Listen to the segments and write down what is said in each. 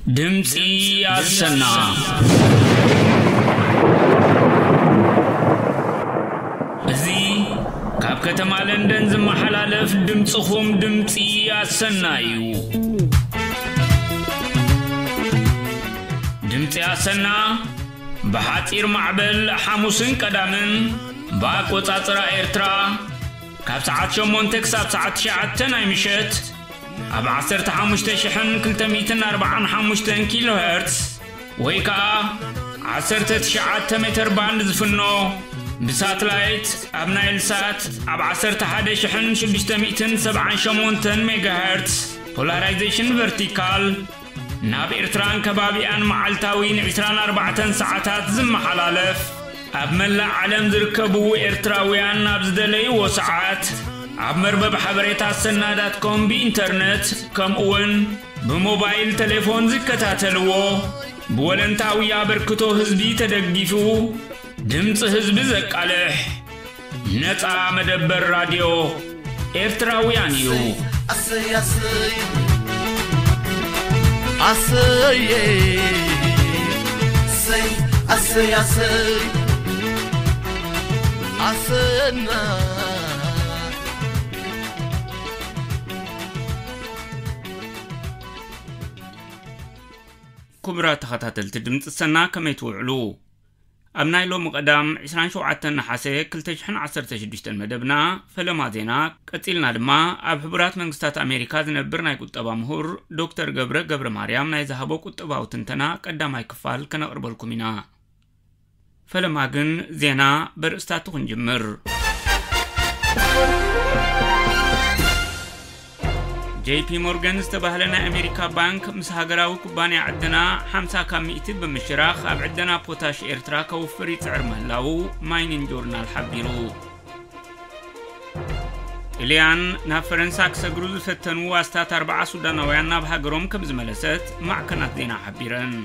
ድምፂ ኣሰና። እዚ ካብ ከተማ ለንደን ዝመሓላለፍ ድምፅኹም ድምፂ ኣሰና እዩ። ድምፂ ኣሰና ብሓፂር ማዕበል ሓሙስን ቀዳምን ብኣቆፃፅራ ኤርትራ ካብ ሰዓት ሸሞንተ ክሳብ ሰዓት ትሽዓተ ናይ ምሸት ኣብ ዓሰርተ ሓሙሽተ ሽሕን ክልተ ሚእትን ኣርባዓን ሓሙሽተን ኪሎ ሄርትስ ወይ ከኣ ዓሰርተ ትሽዓተ ሜተር ባንድ ዝፍኖ፣ ብሳትላይት ኣብ ናይል ሳት ኣብ ዓሰርተ ሓደ ሽሕን ሽዱሽተ ሚእትን ሰብዓን ሸሞንተን ሜጋ ሄርትስ ፖላራይዜሽን ቨርቲካል፣ ናብ ኤርትራን ከባቢኣን መዓልታዊ ንዕስራን ኣርባዕተን ሰዓታት ዝመሓላለፍ፣ ኣብ መላእ ዓለም ዝርከቡ ኤርትራውያን ኣብ ዝደለይዎ ሰዓት ኣብ መርበብ ሓበሬታ ኣሰና ዳት ኮም ብኢንተርነት፣ ከምኡውን ብሞባይል ቴሌፎን ዝከታተልዎ፣ ብወለንታዊ ኣበርክቶ ህዝቢ ተደጊፉ፣ ድምፂ ህዝቢ ዘቃልሕ ነፃ መደበር ራድዮ ኤርትራውያን እዩ። ኣሰይ፣ ኣሰይ፣ ኣሰይ፣ ኣሰይ፣ ኣሰይ፣ ኣሰይ፣ ኣሰና። ክቡራት ተኸታተልቲ ድምፂ ሰና፣ ከመይ ትውዕሉ? ኣብ ናይ ሎሚ ቀዳም ዕስራን ሸውዓተን ነሓሰ ክልተ ሽሕን ዓሰርተ ሽዱሽተን መደብና ፈለማ ዜና፣ ቀጺልና ድማ ኣብ ሕቡራት መንግስታት ኣሜሪካ ዝነብር ናይ ቁጠባ ምሁር ዶክተር ገብረ ገብረ ማርያም ናይ ዝሃቦ ቁጠባዊ ትንተና ቀዳማይ ክፋል ከነቕርበልኩም ኢና። ፈለማ ግን ዜና በርእስታቱ ክንጅምር። ጄ ፒ ሞርጋን ዝተባህለ ናይ ኣሜሪካ ባንክ ምስ ሃገራዊ ኩባንያ ዕደና ሓምሳ ካብ ሚእቲ ብምሽራኽ ኣብ ዕደና ፖታሽ ኤርትራ ከውፍር ይጽዕር ምህላዉ ማይኒን ጆርናል ሓቢሩ። ጥልያን ናብ ፈረንሳ ክሰግሩ ዝፈተኑ ኣስታት ኣርባዓ ሱዳናውያን ናብ ሃገሮም ከም ዝመለሰት ማዕከናት ዜና ሓቢረን።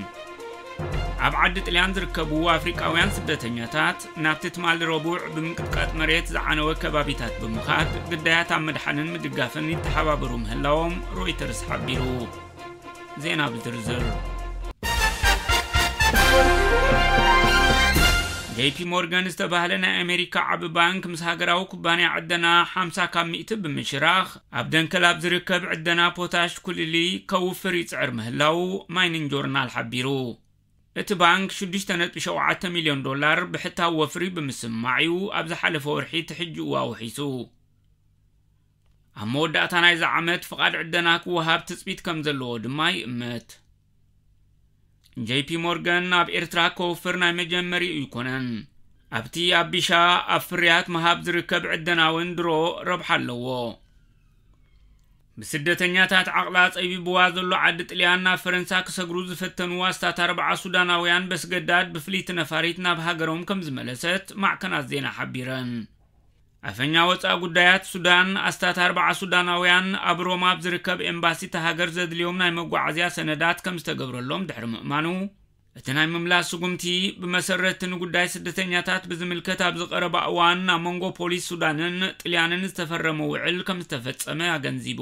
ኣብ ዓዲ ጥልያን ዝርከቡ ኣፍሪቃውያን ስደተኛታት ናብቲ ትማሊ ረቡዕ ብምንቅጥቃጥ መሬት ዝዓነወ ከባቢታት ብምኻድ ግዳያት ኣብ ምድሓንን ምድጋፍን ይተሓባበሩ ምህላዎም ሮይተርስ ሓቢሩ። ዜና ብዝርዝር። ጄ ፒ ሞርጋን ዝተባህለ ናይ ኣሜሪካ ዓቢ ባንክ ምስ ሃገራዊ ኩባንያ ዕደና ሓምሳ ካብ ሚእቲ ብምሽራኽ ኣብ ደንከል ኣብ ዝርከብ ዕደና ፖታሽ ኩልሊ ከውፍር ይጽዕር ምህላዉ ማይኒን ጆርናል ሓቢሩ። እቲ ባንክ ሽዱሽተ ነጥቢ ሸውዓተ ሚልዮን ዶላር ብሕታዊ ወፍሪ ብምስምማዕ እዩ ኣብ ዝሓለፈ ወርሒ ትሕጅኡ ኣውሒሱ። ኣብ መወዳእታ ናይዚ ዓመት ፍቓድ ዕደና ክወሃብ ትጽቢት ከም ዘለዎ ድማ ይእመት። ጄ ፒ ሞርጋን ኣብ ኤርትራ ከውፍር ናይ መጀመሪኡ ኣይኮነን። ኣብቲ ኣብ ቢሻ ኣብ ፍርያት ምሃብ ዝርከብ ዕደና እውን ድሮ ረብሓ ኣለዎ። ብስደተኛታት ዓቕላ ጸቢብዋ ዘሎ ዓዲ ጥልያን ናብ ፈረንሳ ክሰግሩ ዝፈተኑ ኣስታት ኣርባዓ ሱዳናውያን በስገዳድ ብፍልይቲ ነፋሪት ናብ ሃገሮም ከም ዝመለሰት ማዕከናት ዜና ሓቢረን። ኣፈኛ ወጻኢ ጉዳያት ሱዳን ኣስታት ኣርባዓ ሱዳናውያን ኣብ ሮማ ኣብ ዝርከብ ኤምባሲ እታ ሃገር ዘድልዮም ናይ መጓዓዝያ ሰነዳት ከም ዝተገብረሎም ድሕሪ ምእማኑ፣ እቲ ናይ ምምላስ ስጉምቲ ብመሰረት ንጉዳይ ስደተኛታት ብዝምልከት ኣብ ዝቐረባ እዋን ኣብ መንጎ ፖሊስ ሱዳንን ጥልያንን ዝተፈረመ ውዕል ከም ዝተፈጸመ ኣገንዚቡ።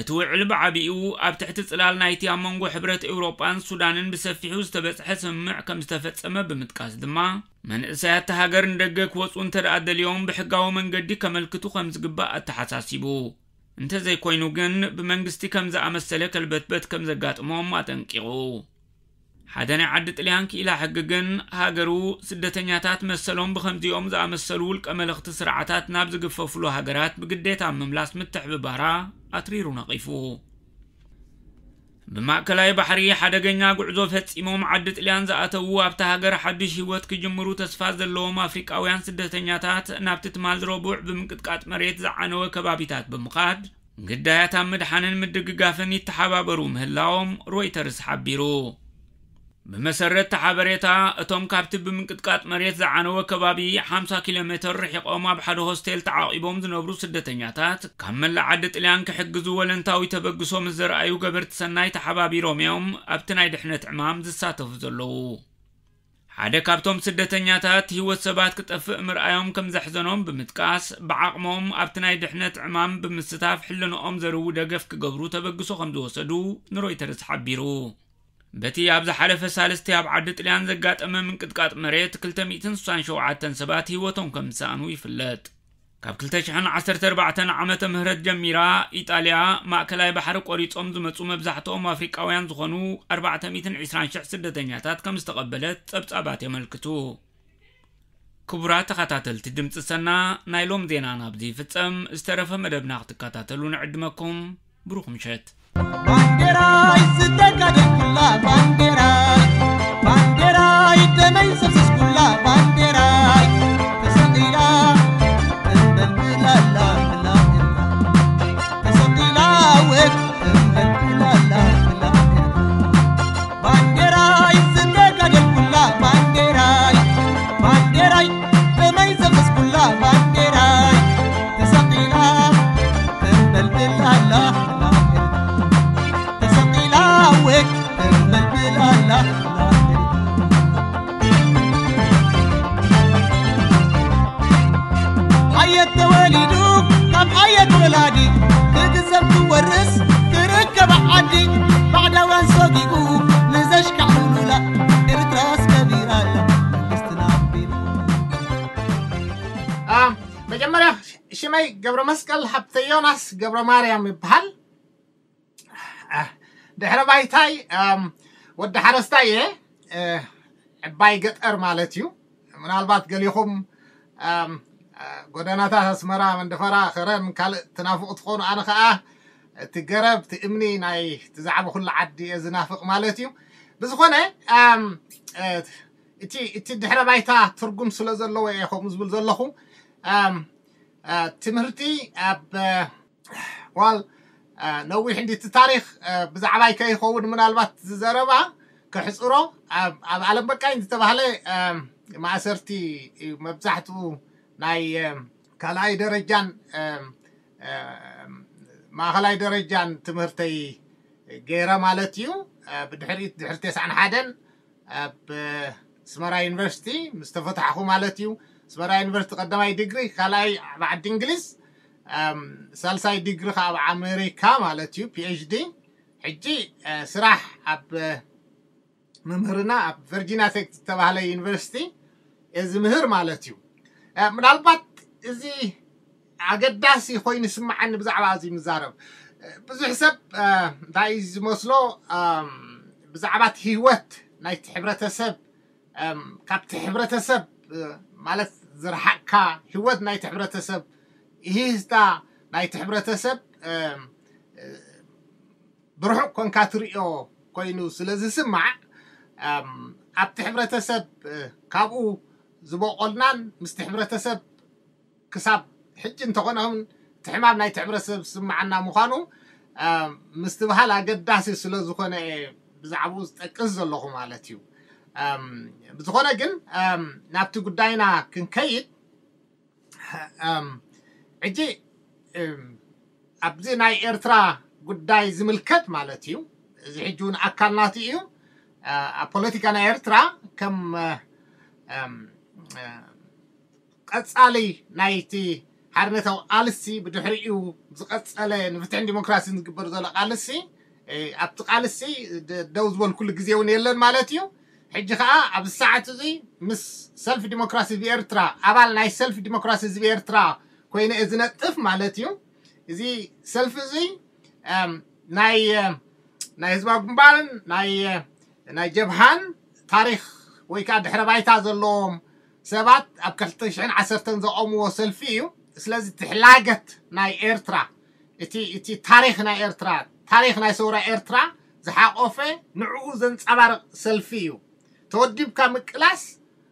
እቲ ውዕል ብዓቢኡ ኣብ ትሕቲ ጽላል ናይቲ ኣብ መንጎ ሕብረት ኤውሮጳን ሱዳንን ብሰፊሑ ዝተበጽሐ ስምምዕ ከም ዝተፈጸመ ብምጥቃስ ድማ፣ መንእሰያት እታ ሃገር ንደገ ክወጹ እንተ ደኣ ደልዮም ብሕጋዊ መንገዲ ከመልክቱ ከም ዝግባእ ኣተሓሳሲቡ። እንተዘይኮይኑ ግን ብመንግስቲ ከም ዝኣመሰለ ከልበትበት ከም ዘጋጥሞም ኣጠንቂቑ። ሓደ ናይ ዓዲ ጥልያን ክኢላ ሕጊ ግን፣ ሃገሩ ስደተኛታት መሰሎም ብኸምዚኦም ዝኣመሰሉ ውልቀ መለኽቲ ስርዓታት ናብ ዝግፈፍሉ ሃገራት ብግዴታ ኣብ ምምላስ ምትሕብባራ ኣትሪሩ ነቒፉ። ብማእከላይ ባሕሪ ሓደገኛ ጉዕዞ ፈጺሞም ዓዲ ጥልያን ዝኣተዉ፣ ኣብታ ሃገር ሓድሽ ህይወት ክጅምሩ ተስፋ ዘለዎም ኣፍሪቃውያን ስደተኛታት ናብቲ ትማል ረቡዕ ብምንቅጥቃጥ መሬት ዝዓነወ ከባቢታት ብምኻድ ግዳያት ኣብ ምድሓንን ምድግጋፍን ይተሓባበሩ ምህላዎም ሮይተርስ ሓቢሩ። ብመሰረት እቲ ሓበሬታ፣ እቶም ካብቲ ብምንቅጥቃጥ መሬት ዝዓነወ ከባቢ ሓምሳ ኪሎ ሜተር ርሒቖም ኣብ ሓደ ሆስቴል ተዓቒቦም ዝነብሩ ስደተኛታት፣ ካብ መላእ ዓዲ ጥልያን ክሕግዙ ወለንታዊ ተበግሶ ምስ ዘርኣዩ ገበርቲ ሰናይ ተሓባቢሮም እዮም ኣብቲ ናይ ድሕነት ዕማም ዝሳተፉ ዘለዉ። ሓደ ካብቶም ስደተኛታት ህይወት ሰባት ክጠፍእ ምርኣዮም ከም ዘሕዘኖም ብምጥቃስ፣ ብዓቕሞም ኣብቲ ናይ ድሕነት ዕማም ብምስታፍ ሕልንኦም ዘርዊ ደገፍ ክገብሩ ተበግሶ ከም ዝወሰዱ ንሮይተርስ ሓቢሩ። በቲ ኣብ ዝሓለፈ ሳልስቲ ኣብ ዓዲ ጥልያን ዘጋጠመ ምንቅጥቃጥ መሬት ክልተ ሚእትን ስሳን ሸውዓተን ሰባት ህይወቶም ከም ዝሰኣኑ ይፍለጥ። ካብ ክልተ ሽሕን ዓሰርተ ኣርባዕተን ዓመተ ምህረት ጀሚራ፣ ኢጣልያ ማእከላይ ባሕሪ ቆሪጾም ዝመጹ መብዛሕትኦም ኣፍሪቃውያን ዝኾኑ ኣርባዕተ ሚእትን ዕስራን ሽሕ ስደተኛታት ከም ዝተቐበለት ጸብጻባት የመልክቱ። ክቡራት ተኸታተልቲ ድምፂ ሰና፣ ናይ ሎም ዜና ናብዚ ይፍጸም። ዝተረፈ መደብና ክትከታተሉ ንዕድመኩም። ብሩኽ ምሸት። ባንዴራይ ዝተጋደልኩላ ባንዴራይ፣ ባንዴራይ ደመይ ዘፍሰስኩላ ባንዴራይ፣ ተሰቒላ ተንበልብላላ ብላ ኤርትራ፣ ተሰቒላ ወት ተንበልብላላ ብላ ኤርትራ። ባንዴራይ ዝተጋደልኩላ ባንዴራይ፣ ባንዴራይ ደመይ ዘፍሰስኩላ ባንዴራይ፣ ተሰቒላ ተንበልብል ኣላ፣ ተሰቒላ ወግ ተንበልብል ኣላ። ኣየት ተወሊዱ ካብ ኣየት ወላዲ፣ ክግዘብ ክወርስ ክርከብ ዓዲ፣ ባዕዳውያን ሰጊኡ ንዘሽካዕሉላ፣ ኤርትራስ ከቢራ ኣላ መንግስትና ኣቢሉ። ኣም፣ መጀመርያ ሽመይ ገብረ መስቀል ሃብተ ዮናስ ገብረ ማርያም ይበሃል። አ፣ ድሕረ ባይታይ፣ ኣም፣ ወዲ ሓረስታይ እየ። እ፣ ዕባይ ገጠር ማለት እዩ። ምናልባት ገሊኹም፣ ኣም፣ አ፣ ጎደናታት ኣስመራ፣ መንደፈራ፣ ከረን ካልእ ትናፍቑ ትኾኑ። ኣነ ኸኣ እቲ ገረብ፣ እቲ እምኒ ናይ እቲ ዝዓበኹሉ ዓዲ እየ ዝናፍቕ ማለት እዩ። ብዝኾነ፣ ኣም፣ እ፣ እቲ፣ እቲ ድሕረ ባይታ ትርጉም ስለ ዘለዎ እየ ከምኡ ዝብል ዘለኹ። ኣም፣ እ፣ ትምህርቲ ኣብ፣ እ፣ ዋል፣ እ፣ ነዊሕ እንዲ እቲ ታሪኽ፣ እ፣ ብዛዕባይ ከይኸውን ምናልባት ዝዘረባ ከሕጽሮ፣ ኣብ፣ ኣብ ዓለም በቃኝ ዝተባህለ፣ እ፣ ማእሰርቲ እዩ መብዛሕትኡ ናይ፣ እ፣ ካልኣይ ደረጃን፣ እ፣ እ፣ ማእኸላይ ደረጃን ትምህርተይ ገይረ ማለት እዩ። እ፣ ብድሕሪት፣ ድሕሪ ተስዓን ሓደን ኣብ፣ እ፣ ኣስመራ ዩኒቨርሲቲ ምስ ተፈታሕኹ ማለት እዩ። ኣስመራ ዩኒቨርሲቲ ቀዳማይ ዲግሪ፣ ካልኣይ ኣብ ዓዲ እንግሊዝ፣ ኣም፣ ሳልሳይ ዲግሪ ከኣ ኣብ ኣሜሪካ ማለት እዩ፣ ፒ ኤች ዲ። ሕጂ፣ እ፣ ስራሕ ኣብ፣ እ፣ ምምህርና ኣብ ቨርጂኒያ ቴክ ዝተባህለ ዩኒቨርሲቲ እየ ዝምህር ማለት እዩ። እ፣ ምናልባት እዚ ኣገዳሲ ኮይኑ ይስምዓኒ ብዛዕባ እዚ ምዛረብ። እ፣ ብዙሕ ሰብ፣ እ፣ እንታይ እዩ ዝመስሎ፣ ኣም፣ ብዛዕባ እቲ ህይወት ናይቲ ሕብረተሰብ፣ ኣም፣ ካብቲ ሕብረተሰብ፣ እ፣ ማለት ዝረሓቕካ ህይወት ናይቲ ሕብረተሰብ፣ ይሂስታ ናይቲ ሕብረተሰብ፣ ኣም፣ እ፣ ብርሑቕ ኮንካ ትርእዮ ኮይኑ ስለ ዝስማዕ፣ ኣም፣ ኣብቲ ሕብረተሰብ፣ እ፣ ካብኡ ዝበቆልናን ምስቲ ሕብረተሰብ ክሳብ ሕጂ እንተኾነ እውን እቲ ሕማም ናይቲ ሕብረተሰብ ዝስምዓና ምዃኑ፣ ኣም፣ ምስትብሃል ኣገዳሲ ስለ ዝኾነ እየ ብዛዕባኡ ዝጠቅስ ዘለኹ ማለት እዩ። ኣም፣ ብዝኾነ ግን፣ ኣም፣ ናብቲ ጉዳይና ክንከይድ፣ ኣም፣ ሕጂ፣ እም፣ ኣብዚ ናይ ኤርትራ ጉዳይ ዝምልከት ማለት እዩ። እዚ ሕጂ እውን ኣካል ናቱ እዩ። እ፣ ኣብ ፖለቲካ ናይ ኤርትራ ከም፣ እ፣ እም፣ እ፣ ቀጻሊ ናይቲ ሓርነታዊ ቃልሲ፣ ብድሕሪኡ ዝቐጸለ ንፍትሕን ዲሞክራሲን ዝግበር ዘሎ ቃልሲ፣ እ፣ ኣብቲ ቃልሲ ደ-፣ ደው ዝበልኩሉ ግዜ እውን የለን ማለት እዩ። ሕጂ ኸኣ ኣብዚ ሰዓት እዚ ምስ ሰልፊ ዲሞክራሲ ህዝቢ ኤርትራ፣ ኣባል ናይ ሰልፊ ዲሞክራሲ ህዝቢ ኤርትራ ኮይነ እየ ዝነጥፍ ማለት እዩ። እዚ ሰልፊ እዚ፣ እም፣ ናይ፣ እም፣ ናይ ህዝባዊ ግንባርን ናይ፣ ናይ ጀብሃን ታሪኽ ወይ ከኣ ድሕረ ባይታ ዘለዎም ሰባት ኣብ ክልተ ሽሕን ዓሰርተን ዘቆምዎ ሰልፊ እዩ። ስለዚ እቲ ሕላገት ናይ ኤርትራ፣ እቲ፣ እቲ ታሪኽ ናይ ኤርትራ፣ ታሪኽ ናይ ሰውራ ኤርትራ ዝሓቆፈ፣ ንዕኡ ዘንጸባርቕ ሰልፊ እዩ። ተወዲብካ ምቅላስ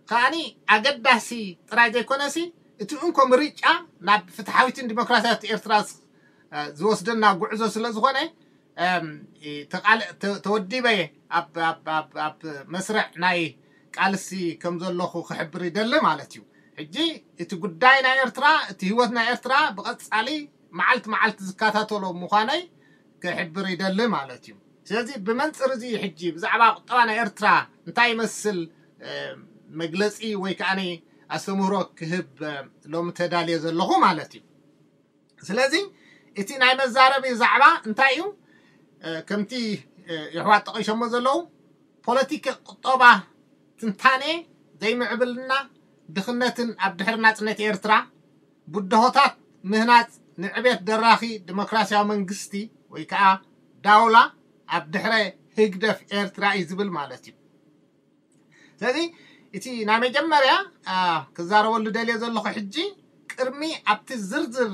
ከኣኒ ኣገዳሲ ጥራይ ዘይኮነሲ፣ እቲ እንኮ ምርጫ ናብ ፍትሓዊትን ዲሞክራሲያዊት ኤርትራ ዝ-፣ እ፣ ዝወስደና ጉዕዞ ስለ ዝኾነ፣ እም፣ እ፣ ተቓል-፣ ተ-፣ ተወዲበ ኣብ፣ ኣብ፣ ኣብ፣ ኣብ መስርዕ ናይ ቃልሲ ከም ዘለኹ ክሕብር ይደሊ ማለት እዩ። ሕጂ እቲ ጉዳይ ናይ ኤርትራ፣ እቲ ህይወት ናይ ኤርትራ ብቐጻሊ መዓልቲ መዓልቲ ዝከታተሎ ምዃነይ ክሕብር ይደሊ ማለት እዩ። ስለዚ ብመንጽር እዚ ሕጂ ብዛዕባ ቁጠባ ናይ ኤርትራ እንታይ ይመስል፣ እ፣ መግለጺ ወይ ከኣ ኣስተምህሮ ክህብ፣ እ፣ ሎሚ ተዳልየ ዘለኹ ማለት እዩ። ስለዚ እቲ ናይ መዛረቢ ዛዕባ እንታይ እዩ? እ፣ ከምቲ፣ እ፣ የሕዋት ጠቒሶሞ ዘለዉ፣ ፖለቲካ፣ ቁጠባ፣ ትንታኔ ዘይምዕብልና፣ ድኽነትን ኣብ ድሕሪ ናጽነት ኤርትራ ብድሆታት ምህናጽ ንዕቤት ደራኺ ዲሞክራሲያዊ መንግስቲ ወይ ከዓ ዳውላ ኣብ ድሕረ ህግደፍ ኤርትራ እዩ ዝብል ማለት እዩ። ስለዚ እቲ ናይ መጀመርያ ክዛረበሉ ደልየ ዘለኹ ሕጂ ቅድሚ ኣብቲ ዝርዝር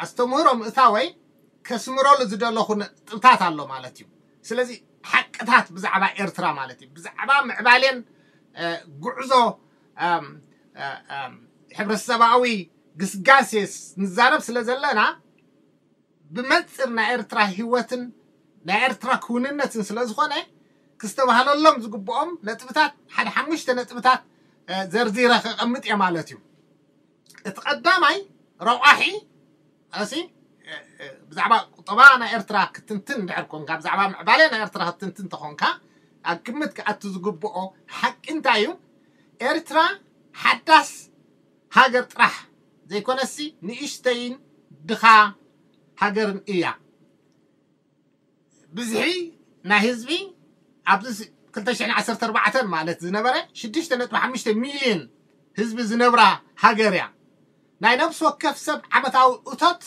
ኣስተምህሮ ምእታወይ ከስምረሉ ዝደለኹ ነጥብታት ኣሎ ማለት እዩ። ስለዚ ሓቅታት ብዛዕባ ኤርትራ ማለት እዩ፣ ብዛዕባ ምዕባሌን ጉዕዞ ሕብረተሰባዊ ግስጋሴ ንዛረብ ስለ ዘለና ብመንፅር ናይ ኤርትራ ህይወትን ናይ ኤርትራ ክውንነትን ስለ ዝኾነ ክስተባሃለሎም ዝግብኦም ነጥብታት ሓደ ሓሙሽተ ነጥብታት ዘርዚረ ከቐምጥ እየ ማለት እዩ። እቲ ቀዳማይ ረቋሒ እሲ ብዛዕባ ቁጠባ ናይ ኤርትራ ክትንትን እንድሕር ኮንካ፣ ብዛዕባ ምዕባለ ናይ ኤርትራ ክትንትን ተኾንካ ኣብ ግምት ክኣቱ ዝግብኦ ሓቂ እንታይ እዩ? ኤርትራ ሓዳስ ሃገር ጥራሕ ዘይኮነሲ ንእሽተይን ድኻ ሃገርን እያ። ብዝሒ ናይ ህዝቢ ኣብዚ ክልተ ሽሕን ዓሰርተ ኣርባዕተን ማለት ዝነበረ ሽዱሽተ ነጥቢ ሓሙሽተ ሚልዮን ህዝቢ ዝነብራ ሃገር እያ። ናይ ነፍሲ ወከፍ ሰብ ዓመታዊ እቶት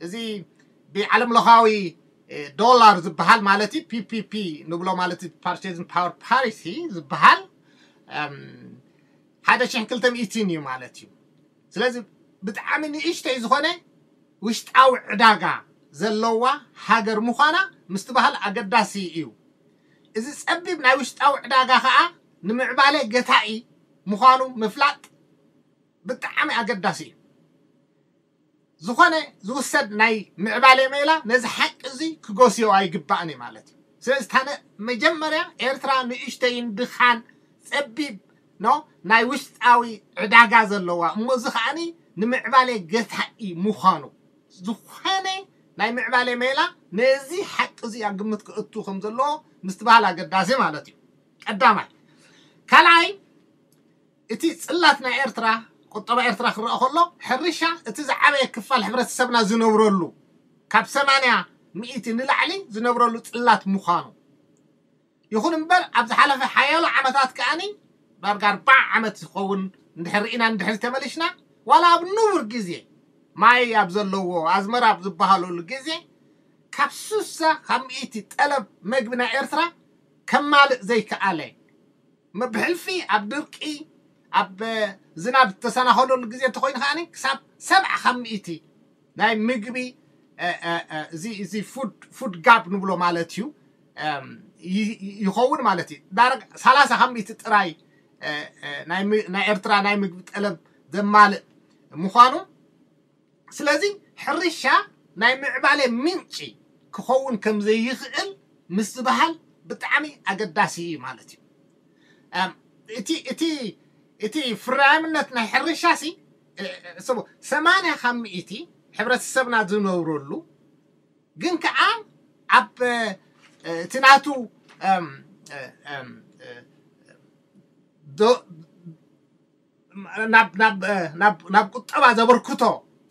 እዚ ብዓለም ለኻዊ ዶላር ዝበሃል ማለት እዩ፣ ፒፒፒ ንብሎ ማለት እዩ፣ ፓርቼዚንግ ፓወር ፓሪቲ ዝበሃል ሓደ ሽሕን ክልተ ሚእትን እዩ ማለት እዩ። ስለዚ ብጣዕሚ ንእሽተይ ዝኾነ ውሽጣዊ ዕዳጋ ዘለዋ ሃገር ምዃና ምስትባሃል ኣገዳሲ እዩ። እዚ ጸቢብ ናይ ውሽጣዊ ዕዳጋ ኸኣ ንምዕባለ ገታኢ ምዃኑ ምፍላጥ ብጣዕሚ ኣገዳሲ እዩ። ዝኾነ ዝውሰድ ናይ ምዕባለ ሜላ ነዚ ሓቂ እዚ ክጎስዮ ኣይግባእን እዩ ማለት እዩ። ስለዚ እታ መጀመርያ ኤርትራ ንእሽተይን ድኻን ጸቢብ ኖ ናይ ውሽጣዊ ዕዳጋ ዘለዋ እሞ እዚ ከዓኒ ንምዕባለ ገታኢ ምዃኑ ዝኾነ ናይ ምዕባለ ሜላ ነዚ ሓቂ እዚ ኣብ ግምት ክእቱ ከም ዘለዎ ምስትባሃል ኣገዳሲ ማለት እዩ። ቀዳማይ። ካልኣይ እቲ ጽላት ናይ ኤርትራ ቁጠባ ኤርትራ ክረአ ከሎ ሕርሻ እቲ ዝዓበየ ክፋል ሕብረተሰብና ዝነብረሉ ካብ ሰማንያ ሚእቲ ንላዕሊ ዝነብረሉ ጽላት ምዃኑ ይኹን እምበር ኣብ ዝሓለፈ ሓያሎ ዓመታት ከኣኒ ዳርጋ ኣርባዓ ዓመት ዝኸውን እንድሕር ርኢና እንድሕር ተመሊሽና ዋላ ኣብ ንቡር ግዜ ማይ ኣብ ዘለዎ ኣዝመራ ኣብ ዝበሃለሉ ግዜ ካብ ሱሳ ካብ ሚእቲ ጠለብ መግቢ ናይ ኤርትራ ከማልእ ዘይከኣለ ብሕልፊ ኣብ ድርቂ ኣብ ዝናብ ዝተሰናኸለሉ ግዜ እንተኮይኑ ከዓኒ ክሳብ ሰብዓ ካብ ሚእቲ ናይ ምግቢ እዚ ፉድ ጋፕ ንብሎ ማለት እዩ ይኸውን ማለት እዩ። ዳረግ ሰላሳ ካብ ሚእቲ ጥራይ ናይ ኤርትራ ናይ ምግቢ ጠለብ ዘማልእ ምዃኑ ስለዚ ሕርሻ ናይ ምዕባለ ምንጪ ክኸውን ከም ዘይኽእል ምስትብሃል ብጣዕሚ ኣገዳሲ እዩ ማለት እዩ። እቲ እቲ እቲ ፍራያምነት ናይ ሕርሻ ሲ ሰማንያ ካብ ሚእቲ ሕብረተሰብና ዝነብረሉ ግን ከዓ ኣብ እቲ ናቱ ናብ ቁጠባ ዘበርክቶ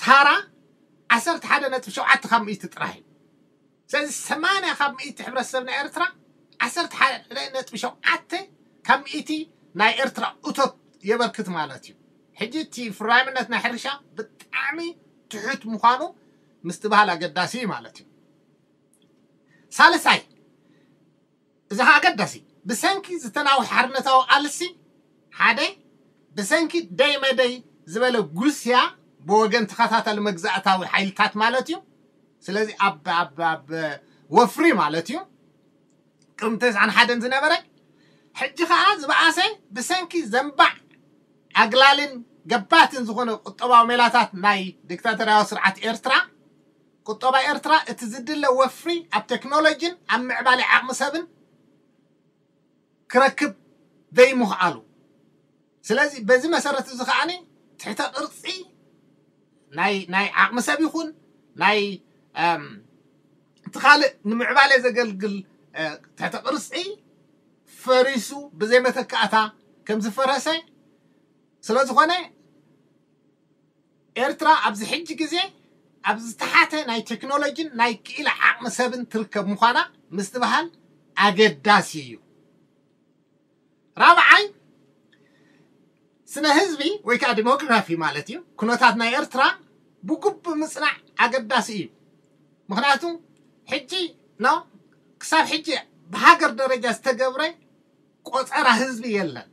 ታራ ዓሰርተ ሓደ ነጥቢ ሸውዓተ ካብ ሚእቲ ጥራሕ እዩ። ስለዚ ሰማንያ ካብ ሚእቲ ሕብረተሰብ ናይ ኤርትራ ዓሰርተ ሓደ ነጥቢ ሸውዓተ ካብ ሚእቲ ናይ ኤርትራ እቶት የበርክት ማለት እዩ። ሕጂ እቲ ፍራይምነት ናይ ሕርሻ ብጣዕሚ ትሑት ምዃኑ ምስትብሃል ኣገዳሲ እዩ ማለት እዩ። ሳልሳይ እዚ ኸዓ ኣገዳሲ ብሰንኪ ዝተናውሐ ሓርነታዊ ቃልሲ ሓደ ብሰንኪ ደይ መደይ ዝበለ ጉስያ ብወገን ተኸታታሊ መግዛእታዊ ሓይልታት ማለት እዩ። ስለዚ ኣብ ኣብ ኣብ ወፍሪ ማለት እዩ ቅድሚ ተስዓን ሓደን ዝነበረ ሕጂ ኸዓ ዝበኣሰ ብሰንኪ ዘንባዕ ኣግላልን ገባትን ዝኾነ ቁጠባዊ ሜላታት ናይ ዲክታቶርያዊ ስርዓት ኤርትራ ቁጠባ ኤርትራ እቲ ዝድለ ወፍሪ ኣብ ቴክኖሎጂን ኣብ ምዕባለ ዓቕሚ ሰብን ክረክብ ዘይምኽኣሉ ስለዚ በዚ መሰረት እዚ ከዓኒ ትሕተ ቅርፂ ናይ ናይ ዓቕሚ ሰብ ይኹን ናይ እቲ ካልእ ንምዕባለ ዘገልግል ትሕተ ቅርፂ ፈሪሱ ብዘይ መተካእታ ከም ዝፈረሰ ስለ ዝኾነ ኤርትራ ኣብዚ ሕጂ ግዜ ኣብ ዝተሓተ ናይ ቴክኖሎጂን ናይ ክኢላ ዓቕሚ ሰብን ትርከብ ምዃና ምስትብሃል ኣገዳሲ እዩ። ራብዓይ፣ ስነ ህዝቢ ወይ ከዓ ዲሞግራፊ ማለት እዩ። ኩነታት ናይ ኤርትራ ብግቡእ ምፅናዕ ኣገዳሲ እዩ። ምክንያቱ ሕጂ ኖ ክሳብ ሕጂ ብሃገር ደረጃ ዝተገብረ ቆፀራ ህዝቢ የለን።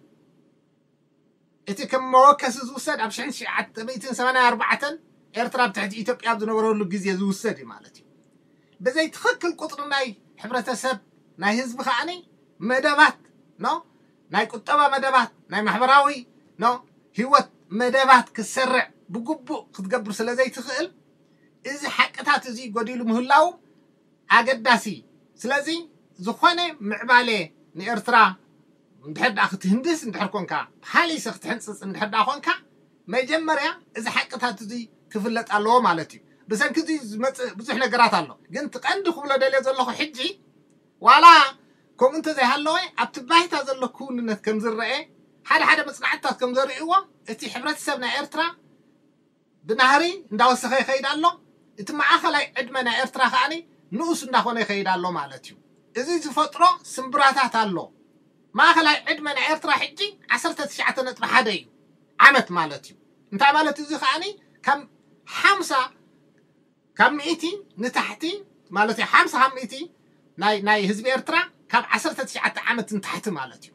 እቲ ከም መወከሲ ዝውሰድ ኣብ ሽሕን ትሽዓተ ሚእትን ሰማንያን ኣርባዕተን ኤርትራ ኣብ ትሕቲ ኢትዮጵያ ኣብ ዝነበረሉ ግዜ ዝውሰድ እዩ ማለት እዩ። ብዘይ ትኽክል ቁፅሪ ናይ ሕብረተሰብ ናይ ህዝቢ ከዓኒ መደባት ኖ ናይ ቁጠባ መደባት ናይ ማሕበራዊ ኖ ህይወት መደባት ክሰርዕ ብግቡእ ክትገብር ስለ ዘይትኽእል እዚ ሓቅታት እዚ ጎዲሉ ምህላው ኣገዳሲ። ስለዚ ዝኾነ ምዕባለ ንኤርትራ እንድሕር ደኣ ክትህንድስ እንድሕር ኮንካ ሃሊሰ ክትሕንፅፅ እንድሕር ደኣ ኮንካ መጀመርያ እዚ ሓቅታት እዚ ክፍለጥ ኣለዎ ማለት እዩ። ብሰንኪ እዚ ዝመፅእ ብዙሕ ነገራት ኣሎ። ግን እቲ ቀንዲ ክብሎ ደልዮ ዘለኹ ሕጂ ዋላ ከምኡ እንተዘይሃለወ ኣብቲ ባይታ ዘሎ ክውንነት ከም ዝረአ ሓደ ሓደ መፅናዕትታት ከም ዘርእይዎ እቲ ሕብረተሰብ ናይ ኤርትራ ብናህሪ እንዳወሰኸ ይኸይድ ኣሎ። እቲ ማእኸላይ ዕድመ ናይ ኤርትራ ከዓኒ ንኡስ እንዳኾነ ይኸይድ ኣሎ ማለት እዩ። እዚ ዝፈጥሮ ስምብራታት ኣሎ። ማእኸላይ ዕድመ ናይ ኤርትራ ሕጂ ዓሰርተ ትሽዓተ ነጥቢ ሓደ እዩ ዓመት ማለት እዩ። እንታይ ማለት እዚ ከዓኒ ካብ ሓምሳ ካብ ሚእቲ ንታሕቲ ማለት እዩ። ሓምሳ ካብ ሚእቲ ናይ ናይ ህዝቢ ኤርትራ ካብ ዓሰርተ ትሽዓተ ዓመት ንታሕቲ ማለት እዩ።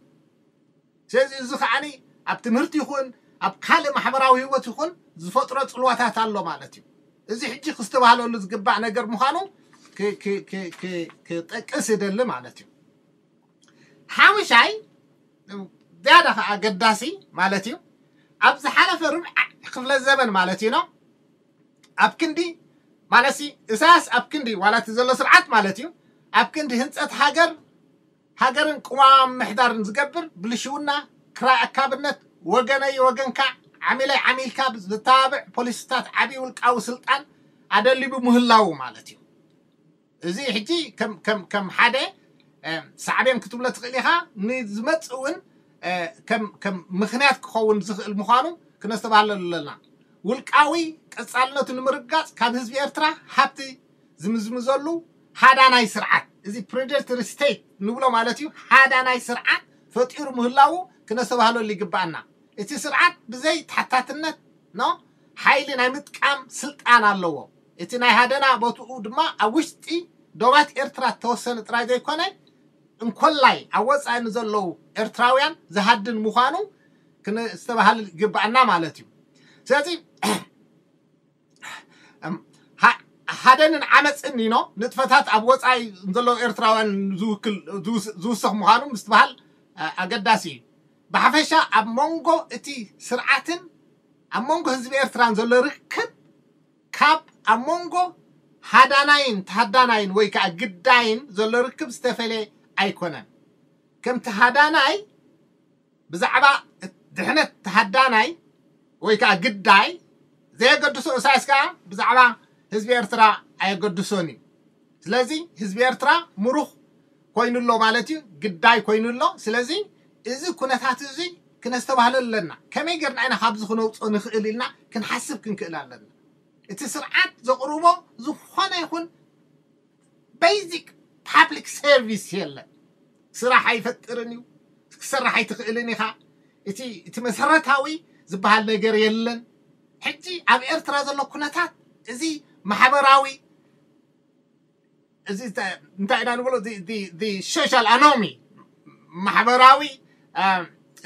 ስለዚ እዚ ከዓኒ ኣብ ትምህርቲ ይኹን ኣብ ካልእ ማሕበራዊ ህይወት ይኹን ዝፈጥሮ ፅልዋታት ኣሎ ማለት እዩ። እዚ ሕጂ ክስተባህለሉ ዝግባእ ነገር ምዃኑ ክጠቅስ ይደሊ ማለት እዩ። ሓሙሻይ ዝያዳ ከዓ ኣገዳሲ ማለት እዩ። ኣብ ዝሓለፈ ርብዓ ክፍለ ዘበን ማለት እዩ ነው ኣብ ክንዲ ማለትሲ እሳያስ ኣብ ክንዲ ዋላ እቲ ዘሎ ስርዓት ማለት እዩ ኣብ ክንዲ ህንፀት ሃገር ሃገርን ቅዋም ምሕዳርን ዝገብር ብልሽውና ክራይ ኣካብነት ወገነይ ወገንካ ዓሚለይ ዓሚልካ ዝተባብዕ ፖሊስታት ዓብዪ ውልቃዊ ስልጣን ኣደሊቡ ምህላው ማለት እዩ። እዚ ሕጂ ከም ከም ከም ሓደ ሳዕቤን ክትብሎ ትኽእል ኢኻ። ንዝመፅእ እውን ከም ከም ምክንያት ክኸውን ዝኽእል ምዃኑ ክነስተባህለሉ ኣለና። ውልቃዊ ቀፃልነቱ ንምርጋፅ ካብ ህዝቢ ኤርትራ ሃብቲ ዝምዝምዘሉ ሃዳናይ ስርዓት፣ እዚ ፕሬደተሪ ስቴት ንብሎ ማለት እዩ፣ ሃዳናይ ስርዓት ፈጢሩ ምህላዉ ክነስተባህለሉ ይግባኣና። እቲ ስርዓት ብዘይ ተሓታትነት ኖ ሓይሊ ናይ ምጥቃም ስልጣን ኣለዎ። እቲ ናይ ሃደና ቦትኡ ድማ ኣብ ውሽጢ ዶባት ኤርትራ ዝተወሰነ ጥራይ ዘይኮነ እንኮላይ ኣብ ወፃኢ ንዘለዉ ኤርትራውያን ዝሃድን ምዃኑ ክነስተባህል ይግባኣና ማለት እዩ። ስለዚ ሃደንን ዓመፅን ኖ ንጥፈታት ኣብ ወፃኢ ዘለዉ ኤርትራውያን ዝውክል ዝውስኽ ምዃኑ ምስትባሃል ኣገዳሲ እዩ። ብሓፈሻ ኣብ መንጎ እቲ ስርዓትን ኣብ መንጎ ህዝቢ ኤርትራን ዘሎ ርክብ ካብ ኣብ መንጎ ሃዳናይን ተሃዳናይን ወይ ከዓ ግዳይን ዘሎ ርክብ ዝተፈለየ ኣይኮነን። ከምቲ ሃዳናይ ብዛዕባ ድሕነት ተሃዳናይ ወይ ከዓ ግዳይ ዘየገድሶ እሳያስ ከዓ ብዛዕባ ህዝቢ ኤርትራ ኣየገድሶን እዩ። ስለዚ ህዝቢ ኤርትራ ምሩኽ ኮይኑ ኣሎ ማለት እዩ፣ ግዳይ ኮይኑ ኣሎ። ስለዚ እዚ ኩነታት እዚ ክነስተባህሎ ኣለና። ከመይ ጌርና ኢና ካብዚ ክነውፅኦ ንኽእል ኢልና ክንሓስብ ክንክእል ኣለና። እቲ ስርዓት ዘቕርቦ ዝኾነ ይኹን ቤዚክ ፓብሊክ ሰርቪስ የለን። ስራሕ ኣይፈጥርን እዩ፣ ክሰርሕ ኣይትኽእልን ኢኻ። እቲ እቲ መሰረታዊ ዝበሃል ነገር የለን። ሕጂ ኣብ ኤርትራ ዘሎ ኩነታት እዚ ማሕበራዊ እዚ እንታይ ኢና ንብሎ ሶሻል ኣኖሚ ማሕበራዊ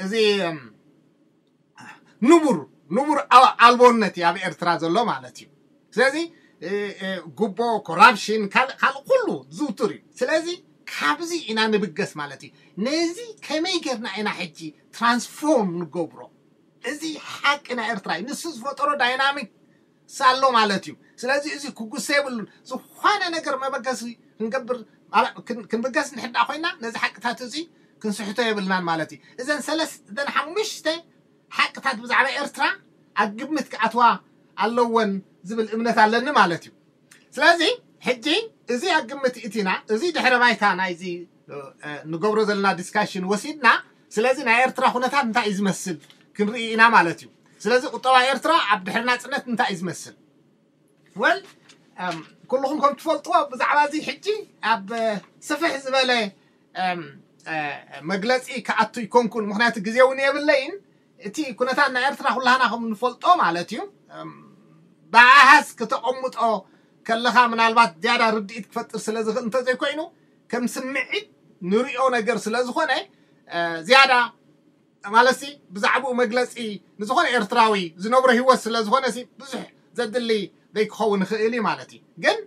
እዚ ንቡር ንቡር ኣልቦነት እዩ ኣብ ኤርትራ ዘሎ ማለት እዩ። ስለዚ ጉቦ፣ ኮራፕሽን፣ ካልእ ካልእ ኩሉ ዝውቱር እዩ። ስለዚ ካብዚ ኢና ንብገስ ማለት እዩ። ነዚ ከመይ ጌርና ኢና ሕጂ ትራንስፎርም ንገብሮ? እዚ ሓቂ ናይ ኤርትራ እዩ። ንሱ ዝፈጠሮ ዳይናሚክ ሳሎ ማለት እዩ። ስለዚ እዚ ክጉሰ የብሉን። ዝኾነ ነገር መበገሲ ክንገብር ክንብገስ ንሕዳ ኮይና ነዚ ሓቅታት እዚ ክንስሕቶ የብልናን ማለት እዩ። እዘን ሰለስተ እዘን ሓሙሽተ ሓቅታት ብዛዕባ ኤርትራ ኣብ ግምት ክኣትዋ ኣለወን ዝብል እምነት ኣለኒ ማለት እዩ። ስለዚ ሕጂ እዚ ኣብ ግምት እቲና እዚ ድሕረ ባይታ ናይዚ ንገብሮ ዘለና ዲስካሽን ወሲድና ስለዚ ናይ ኤርትራ ኩነታት እንታይ እዩ ዝመስል ክንርኢ ኢና ማለት እዩ። ስለዚ ቁጠባ ኤርትራ ኣብ ድሕሪ ናፅነት እንታይ እዩ ዝመስል? ወል ኩልኹም ከም ትፈልጥዎ ብዛዕባ እዚ ሕጂ ኣብ ስፍሕ ዝበለ መግለፂ ክኣቱ ይኮንኩን፣ ምክንያቱ ግዜ እውን የብለይን። እቲ ኩነታት ናይ ኤርትራ ኩላህና ከም ንፈልጦ ማለት እዩ። ብኣሃዝ ከተቐምጦ ከለኻ ምናልባት ዝያዳ ርድኢት ክፈጥር ስለ ዝኽእል እንተዘይኮይኑ፣ ከም ስምዒት ንሪኦ ነገር ስለ ዝኾነ ዝያዳ ማለት ብዛዕባኡ መግለፂ ንዝኾነ ኤርትራዊ ዝነብሮ ህይወት ስለ ዝኾነ ብዙሕ ዘድሊ ዘይክኸውን ይኽእል እዩ ማለት እዩ። ግን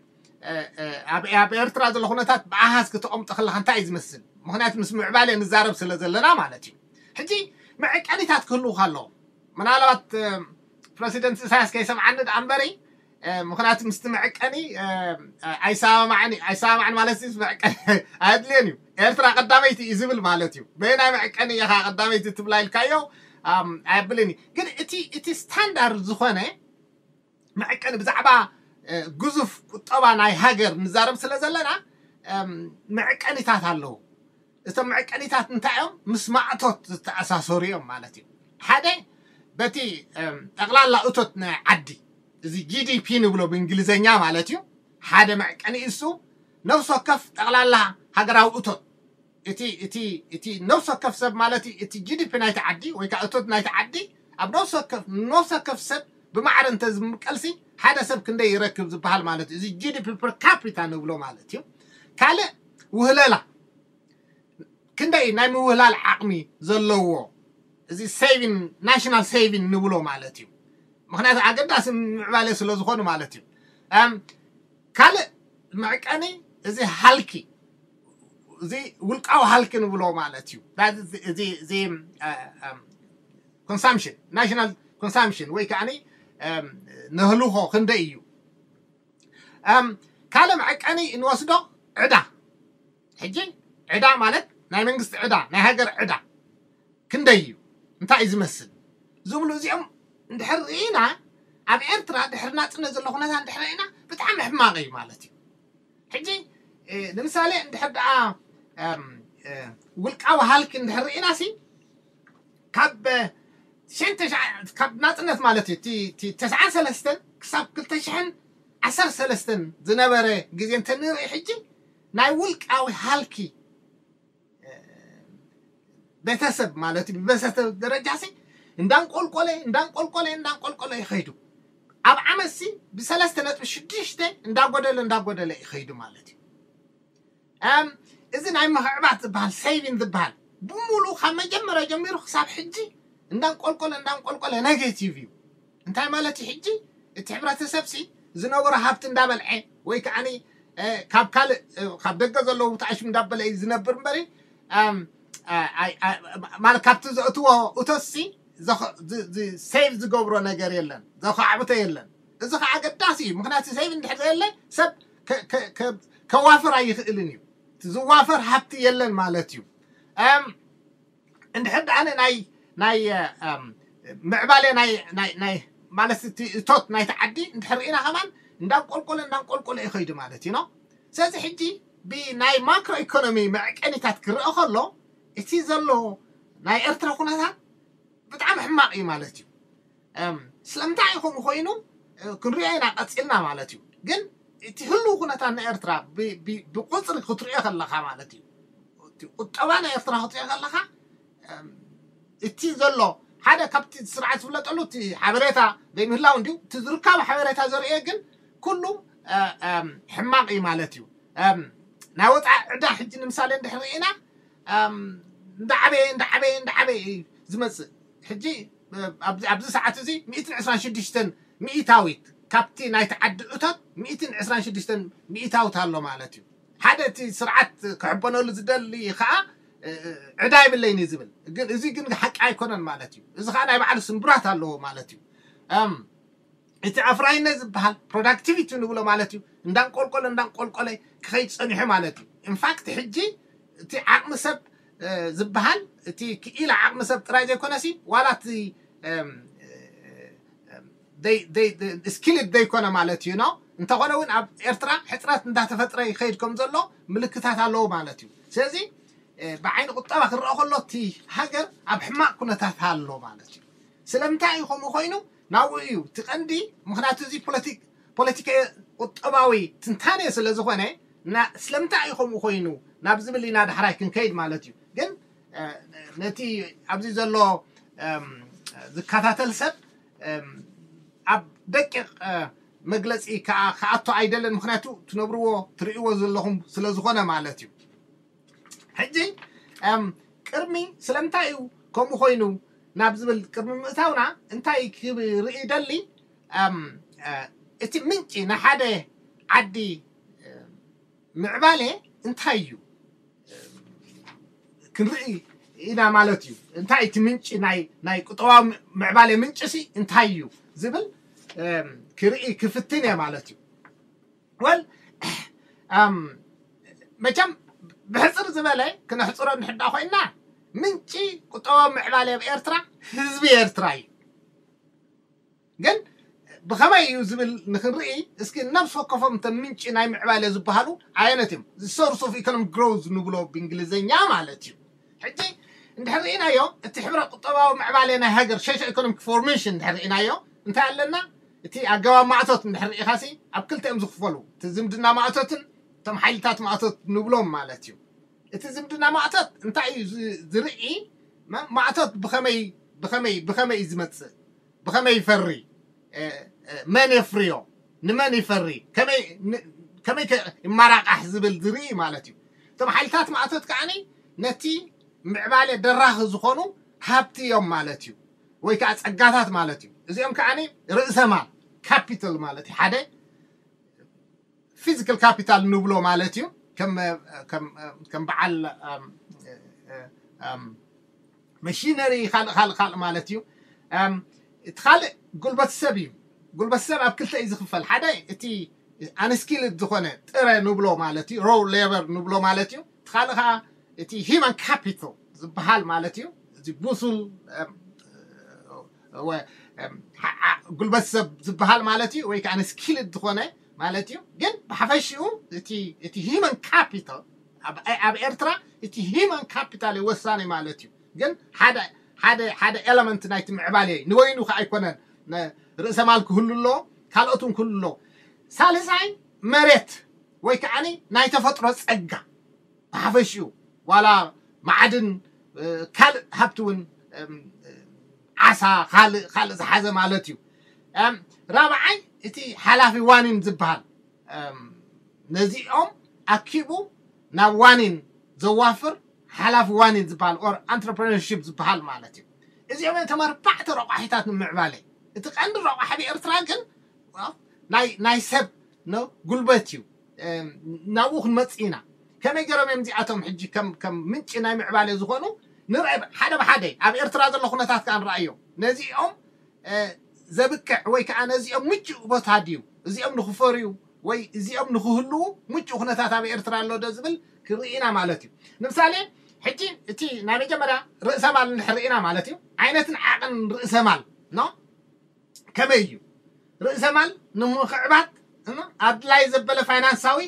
ኣብ ኤርትራ ዘሎ ኩነታት ብኣሃዝ ክተቐምጦ ከለካ እንታይ እዩ ዝመስል? ምክንያቱ ምስ ምዕባለ ንዛረብ ስለ ዘለና ማለት እዩ። ሕጂ መዐቀኒታት ክህልውካ ኣለዎም። ምናልባት ፕረሲደንት ኢሳያስ ከይሰምዓኒ ደኣ እምበሪ፣ ምክንያቱ ምስቲ መዐቀኒ ኣይሰማማዕን ኣይሰማማዕን ማለት መዐቀኒ ኣየድልየን እዩ። ኤርትራ ቀዳመይቲ እዩ ዝብል ማለት እዩ። በየናይ መዐቀኒ ኢኻ ቀዳመይቲ ትብላ ኢልካዮ ኣየብልን እዩ። ግን እቲ እቲ ስታንዳርድ ዝኾነ መዐቀኒ ብዛዕባ ግዙፍ ቁጠባ ናይ ሃገር ንዛረብ ስለ ዘለና መዐቀኒታት ኣለዉ። እቶም መዐቀኒታት እንታይ እዮም? ምስ ማእቶት ዝተኣሳሰሩ እዮም ማለት እዩ። ሓደ በቲ ጠቕላላ እቶት ናይ ዓዲ፣ እዚ ጂ ዲ ፒ ንብሎ ብእንግሊዝኛ ማለት እዩ። ሓደ መዐቀኒ እሱ ነፍሲ ወከፍ ጠቕላላ ሃገራዊ እቶት፣ እቲ እቲ እቲ ነፍሲ ወከፍ ሰብ ማለት እዩ። እቲ ጂ ዲ ፒ ናይቲ ዓዲ ወይ ከዓ እቶት ናይቲ ዓዲ ኣብ ነፍሲ ወከፍ ነፍሲ ወከፍ ሰብ ብማዕረ እንተ ዝምቀልሲ ሓደ ሰብ ክንደይ ይረክብ ዝበሃል ማለት እዩ። እዚ ጂ ዲ ፒ ፐር ካፒታ ንብሎ ማለት እዩ። ካልእ ውህለላ ክንደይ ናይ ምውህላል ዓቕሚ ዘለዎ፣ እዚ ሴቪን ናሽናል ሴቪን ንብሎ ማለት እዩ። ምክንያቱ ኣገዳሲ ምዕባለ ስለ ዝኾኑ ማለት እዩ። ካልእ መዕቀኒ እዚ ሃልኪ፣ እዚ ውልቃዊ ሃልኪ ንብሎ ማለት እዩ። እዚ ኮንሳምሽን፣ ናሽናል ኮንሳምሽን ወይ ከዓ ንህልኾ ክንደይ እዩ? ካልእ መዐቀኒ እንወስዶ ዕዳ። ሕጂ ዕዳ ማለት ናይ መንግስቲ ዕዳ፣ ናይ ሃገር ዕዳ ክንደይ እዩ? እንታይ እዩ ዝመስል? ዝብሉ እዚኦም እንድሕር ርኢና፣ ኣብ ኤርትራ ድሕሪ ናጽነት ዘሎ ኩነታት እንድሕር ርኢና ብጣዕሚ ሕማቕ እዩ ማለት እዩ። ሕጂ ንምሳሌ እንድሕር ደኣ ውልቃዊ ሃልኪ እንድሕር ርኢና ሲ ካብ ሽን ካብ ናጽነት ማለት እዩ፣ እቲ ተስዓን ሰለስተን ክሳብ ክልተ ሽሕን ዓሰርተ ሰለስተን ዝነበረ ግዜ እንተንርኢ፣ ሕጂ ናይ ውልቃዊ ሃልኪ ቤተሰብ ማለት እዩ፣ ብቤተሰብ ደረጃ ሲ እንዳንቆልቆለ እንዳንቆልቆለ እንዳንቆልቆለ ይኸይዱ። ኣብ ዓመት ሲ ብሰለስተ ነጥቢ ሽዱሽተ እንዳጎደለ እንዳጎደለ ይኸይዱ ማለት እዩ። እዚ ናይ ምኽዕባት ዝበሃል፣ ሴቪን ዝበሃል፣ ብሙሉ ካብ መጀመርያ ጀሚሩ ክሳብ ሕጂ እንዳንቆልቆለ እንዳንቆልቆለ ኔጌቲቭ እዩ። እንታይ ማለት እዩ? ሕጂ እቲ ሕብረተሰብ ሲ ዝነበሮ ሃብቲ እንዳበልዐ ወይ ከዓ ካብ ካልእ ካብ ደገ ዘለዉ ተኣሽም እንዳበለ እዩ ዝነብር እምበሪ፣ ማለት ካብቲ ዘእትዎ እቶት ሲ ሴቭ ዝገብሮ ነገር የለን፣ ዘኻዕብቶ የለን። እዚ ከዓ ኣገዳሲ እዩ። ምክንያቱ ሴቭ እንድሕር ዘየለ ሰብ ከዋፍር ኣይኽእልን እዩ። ዝዋፈር ሃብቲ የለን ማለት እዩ። እንድሕር ደኣ ናይ ናይ ምዕባለ ናይ ናይ ናይ ማለት እቲ እቶት ናይቲ ዓዲ እንድሕር ርኢና ከማን እንዳንቆልቆለ እንዳንቆልቆለ ይኸይዱ ማለት እዩ። ስለዚ ሕጂ ብናይ ማክሮ ኢኮኖሚ መዕቀኒታት ክረአ ከሎ እቲ ዘሎ ናይ ኤርትራ ኩነታት ብጣዕሚ ሕማቕ እዩ ማለት እዩ። ስለምንታይ እዩ ከምኡ ኮይኑ ክንሪኦ ኢና ቀፂልና ማለት እዩ። ግን እቲ ህልው ኩነታት ናይ ኤርትራ ብቁፅሪ ክትሪኦ ከለካ ማለት እዩ፣ ቁጠባ ናይ ኤርትራ ክትሪኦ ከለካ እቲ ዘሎ ሓደ ካብቲ ስርዓት ዝፍለጠሉ እቲ ሓበሬታ ዘይምህላው እንዲሁ፣ እቲ ዝርከቡ ሓበሬታ ዘርእዮ ግን ኩሉ ሕማቕ እዩ ማለት እዩ። ናይ ወፃኢ ዕዳ ሕጂ ንምሳሌ እንድሕር ርኢና እንዳዓበየ እንዳዓበየ እንዳዓበየ እዩ ዝመፅእ። ሕጂ ኣብዚ ሰዓት እዚ ሚእትን ዕስራን ሽዱሽተን ሚእታዊት ካብቲ ናይቲ ዓዲ እቶት ሚእትን ዕስራን ሽዱሽተን ሚእታዊት ኣሎ ማለት እዩ። ሓደ እቲ ስርዓት ክሕበነሉ ዝደሊ ከዓ ዕዳ የብለይን እዩ ዝብል፣ ግን እዚ ግን ሓቂ ኣይኮነን ማለት እዩ። እዚ ከዓ ናይ ባዕሉ ስንብራት ኣለዎ ማለት እዩ። እቲ ኣፍራይነት ዝበሃል ፕሮዳክቲቪቲ ንብሎ ማለት እዩ፣ እንዳንቆልቆለ እንዳንቆልቆለ ክኸይድ ፀኒሑ ማለት እዩ። ኢንፋክት ሕጂ እቲ ዓቕሚ ሰብ ዝበሃል እቲ ክኢላ ዓቕሚ ሰብ ጥራይ ዘይኮነሲ ዋላ እቲ ስኪልድ ዘይኮነ ማለት እዩ ነው። እንተኾነ እውን ኣብ ኤርትራ ሕፅረት እንዳተፈጥረ ይኸይድ ከም ዘሎ ምልክታት ኣለዎ ማለት እዩ። ስለዚ ብዓይኒ ቁጠባ ክረአ ከሎ እቲ ሃገር ኣብ ሕማቕ ኩነታት ኣሎ ማለት እዩ። ስለምንታይ እዩ ከምኡ ኮይኑ? ናብኡ እዩ እቲ ቀንዲ። ምክንያቱ እዚ ፖለቲካ ቁጠባዊ ትንታኔ ስለ ዝኾነ ስለምንታይ እዩ ከምኡ ኮይኑ ናብ ዝብል ኢና ዳሕራይ ክንከይድ ማለት እዩ። ግን ነቲ ኣብዚ ዘሎ ዝከታተል ሰብ ኣብ ደቂቕ መግለፂ ክኣቶ ኣይደልን። ምክንያቱ ትነብርዎ ትርእይዎ ዘለኹም ስለዝኾነ ማለት እዩ። ሕጂ ቅድሚ ስለምንታይ እዩ ከምኡ ኮይኑ ናብ ዝብል ቅድሚ ምእታውና እንታይ ክርኢ ደሊ እቲ ምንጪ ንሓደ ዓዲ ምዕባለ እንታይ እዩ ክንርኢ ኢና ማለት እዩ። እንታይ እቲ ምንጪ ናይ ናይ ቁጠባዊ ምዕባለ ምንጭ ሲ እንታይ እዩ ዝብል ክርኢ ክፍትን እየ ማለት እዩ። ወል መቸም ብሕፅር ዝበለ ክነሕፅሮ ንሕዳ ኮይና ምንጪ ቁጠባዊ ምዕባለ ኣብ ኤርትራ ህዝቢ ኤርትራ እዩ። ግን ብኸመይ እዩ ዝብል ንክንርኢ እስኪ ነብሲ ወከፎም እቶም ምንጪ ናይ ምዕባለ ዝበሃሉ ኣየነት እዮም? The source of economic growth ንብሎ ብእንግሊዝኛ ማለት እዩ። ሕጂ እንድሕር ርኢናዮ እቲ ሕብረ ቁጠባዊ ምዕባለ ናይ ሃገር ሶሾ ኢኮኖሚክ ፎርሜሽን እንድሕር ርኢናዮ እንታይ ኣለና? እቲ ኣገባብ ማእቶት እንድሕር ርኢኻሲ ኣብ ክልተ እዮም ዝኽፈሉ። እቲ ዝምድና ማእቶትን እቶም ሓይልታት ማእቶት ንብሎም ማለት እዩ። እቲ ዝምድና ማእቶት እንታይ እዩ ዝርኢ? ማእቶት ብኸመይ ብኸመይ ብኸመይ እዩ ዝመፅእ? ብኸመይ ይፈሪ? መን የፍርዮ? ንመን ይፈሪ? ከመይ ይመራቃሕ ዝብል ዝርኢ ማለት እዩ። እቶም ሓይልታት ማእቶት ከዓኒ ነቲ ምዕባለ ደራኺ ዝኾኑ ሃብቲ እዮም ማለት እዩ፣ ወይ ከዓ ፀጋታት ማለት እዩ። እዚኦም ከዓኒ ርእሰ ማል ካፒታል ማለት እዩ። ሓደ ፊዚካል ካፒታል ንብሎ ማለት እዩ። ከም በዓል መሽነሪ ካልእ ካልእ ካልእ ማለት እዩ። እቲ ካልእ ጉልበት ሰብ እዩ። ጉልበት ሰብ ኣብ ክልተ እዩ ዝኽፈል። ሓደ እቲ ኣንስኪልድ ዝኾነ ጥረ ንብሎ ማለት እዩ፣ ሮ ሌበር ንብሎ ማለት እዩ። እቲ ካልእ ከዓ እቲ ሂማን ካፒታል ዝበሃል ማለት እዩ። እዚ ብሱል ጉልበት ሰብ ዝበሃል ማለት እዩ፣ ወይ ከዓ ኣንስኪልድ ዝኾነ ማለት እዩ። ግን ብሓፈሽኡ እቲ ሂማን ካፒታል ኣብ ኤርትራ እቲ ሂማን ካፒታል እዩ ወሳኒ ማለት እዩ። ግን ሓደ ሓደ ሓደ ኤለመንት ናይቲ ምዕባለ እዩ። ንወይኑ ከዓ ኣይኮነን፣ ርእሰ ማል ክህሉ ኣለዎ፣ ካልኦት እውን ክህሉ ኣለዎ። ሳልሳይ መሬት ወይ ከዓ ናይ ተፈጥሮ ፀጋ ብሓፈሽኡ ዋላ ማዕድን ካልእ ሃብቲ እውን ዓሳ ካልእ ካልእ ዝሓዘ ማለት እዩ። ራብዓይ እቲ ሓላፊ ዋኒን ዝበሃል ነዚኦም ኣኪቡ ናብ ዋኒን ዘዋፍር ሓላፊ ዋኒን ዝበሃል ኦር ኣንትረፕረነርሺፕ ዝበሃል ማለት እዩ። እዚኦም እዮም ተመርባዕተ ረቋሒታት ንምዕባለ። እቲ ቀንዲ ረቋሒ ብኤርትራ ግን ናይ ሰብ ጉልበት እዩ። ናብኡ ክንመፅእ ኢና። ከመይ ገይሮም እዮም እዚኣቶም ሕጂ ከም ምንጪ ናይ ምዕባለ ዝኾኑ ንርአ ሓደ ብሓደ ኣብ ኤርትራ ዘሎ ኩነታት ከዓ ንረኣዮ። ነዚኦም ዘብቅዕ ወይ ከዓ ነዚኦም ምቹእ ቦታ ድዩ እዚኦም ንክፈርዩ ወይ እዚኦም ንክህልዉ ምቹእ ኩነታት ኣብ ኤርትራ ኣሎ ዶ ዝብል ክርኢ ኢና ማለት እዩ። ንምሳሌ ሕጂ እቲ ናይ መጀመርያ ርእሰ ማል እንድሕር ርኢና ማለት እዩ ዓይነትን ዓቕን ርእሰ ማል ኖ ከመይ እዩ ርእሰ ማል ንምኽዕባት ኣድላይ ዘበለ ፋይናንሳዊ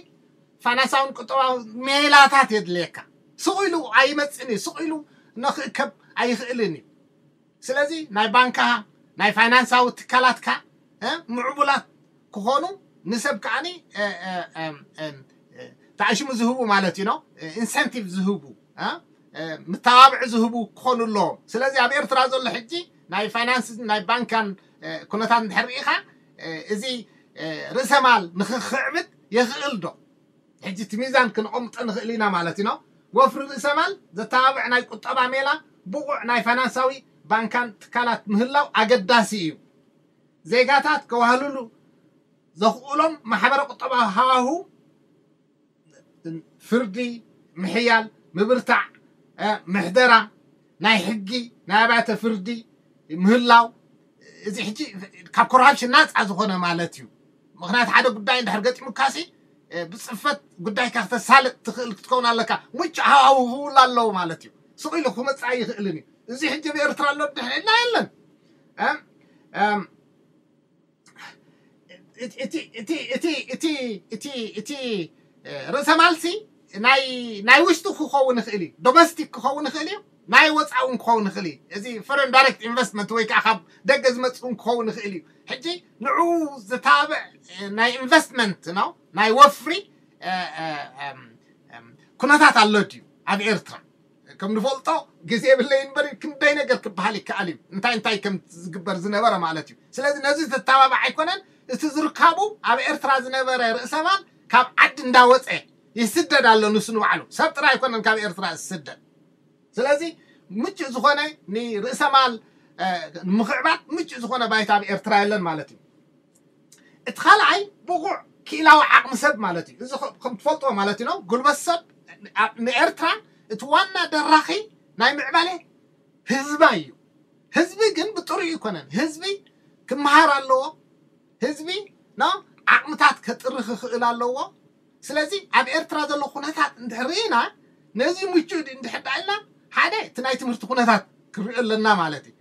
ፋይናንሳውን ቁጠባዊ ሜላታት የድልየካ። ስቕ ኢሉ ኣይመፅን እዩ፣ ስቕ ኢሉ ንክእከብ ኣይኽእልን እዩ። ስለዚ ናይ ባንካ ናይ ፋይናንሳዊ ትካላትካ ምዕቡላት ክኾኑ ንሰብ ከዓኒ ተኣሽሙ ዝህቡ ማለት እዩ ኢንሰንቲቭ ዝህቡ ምተባብዒ ዝህቡ ክኾኑ ኣለዎም። ስለዚ ኣብ ኤርትራ ዘሎ ሕጂ ናይ ፋይናንስ ናይ ባንካን ኩነታት እንድሕር ርኢኻ እዚ ርእሰ ማል ንክኽዕብት የኽእል ዶ? ሕጂ እቲ ሚዛን ክንቐምጦ ንኽእል ኢና ማለት ኢና። ወፍሪ ርእሰ ማል ዘተባብዕ ናይ ቁጠባ ሜላ ብቑዕ ናይ ፋይናንሳዊ ባንካን ትካላት ምህላው ኣገዳሲ እዩ። ዜጋታት ከዋህልሉ ዘኽእሎም ማሕበረ ቁጠባዊ ሃዋሁ ፍርዲ ምሕያል ምብርታዕ ምሕደራ ናይ ሕጊ ናይ ኣብያተ ፍርዲ ምህላው እዚ ሕጂ ካብ ኮራፕሽን ናፃ ዝኾነ ማለት እዩ። ምክንያቱ ሓደ ጉዳይ እንድሕር ገጢሙካሲ ብፅፈት ጉዳይካ ክተሳልጥ ትኽእል ክትከውን ኣለካ። ምቹእ ሃዋሁ ክህውላ ኣለዎ ማለት እዩ። ስቕ ኢሉ ክመፅእ ኣይኽእልን እዩ። እዚ ሕጂ ኣብ ኤርትራ ኣሎ ድሕልና የለን። እቲ ርእሰ ማልሲ ናይ ውሽጡ ክኸውን ይኽእል እዩ፣ ዶሜስቲክ ክኸውን ይኽእል እዩ፣ ናይ ወፃኢ እውን ክኸውን ይኽእል እዩ። እዚ ፎረን ዳይሬክት ኢንቨስትመንት ወይ ከዓ ካብ ደገ ዝመፅእ እውን ክኸውን ይኽእል እዩ። ሕጂ ንዑ ዝተባብዕ ናይ ኢንቨስትመንት ነው ናይ ወፍሪ ኩነታት ኣሎ ድዩ ኣብ ኤርትራ? ከም ንፈልጦ ግዜ የብለይ እምበር ክንደይ ነገር ክበሃል ይከኣል እዩ፣ እንታይ እንታይ ከም ዝግበር ዝነበረ ማለት እዩ። ስለዚ ነዚ ዘተባባዕ ኣይኮነን። እቲ ዝርካቡ ኣብ ኤርትራ ዝነበረ ርእሰማል ካብ ዓዲ እንዳወፀ ይስደድ ኣሎ። ንሱ ንባዕሉ ሰብ ጥራይ ኣይኮነን ካብ ኤርትራ ዝስደድ። ስለዚ ምቹእ ዝኾነ ንርእሰማል ንምኽዕባት ምቹእ ዝኾነ ባይታ ኣብ ኤርትራ የለን ማለት እዩ። እቲ ካልኣይ ብቑዕ ክኢላዊ ዓቕሚ ሰብ ማለት እዩ። እዚ ከም ትፈልጥዎ ማለት እዩ። ጉልበት ሰብ ንኤርትራ እቲ ዋና ደራኺ ናይ ምዕባለ ህዝባ እዩ። ህዝቢ ግን ብጥሩይ ኣይኮነን። ህዝቢ ክመሃር ኣለዎ። ህዝቢ ኖ ዓቕምታት ከጥሪ ክኽእል ኣለዎ። ስለዚ ኣብ ኤርትራ ዘሎ ኩነታት እንድሕር ርኢና ነዚ ምቹእ ድዩ እንድሕር ደኣ ኢልና ሓደ እቲ ናይ ትምህርቲ ኩነታት ክርኢ ኣለና ማለት እዩ።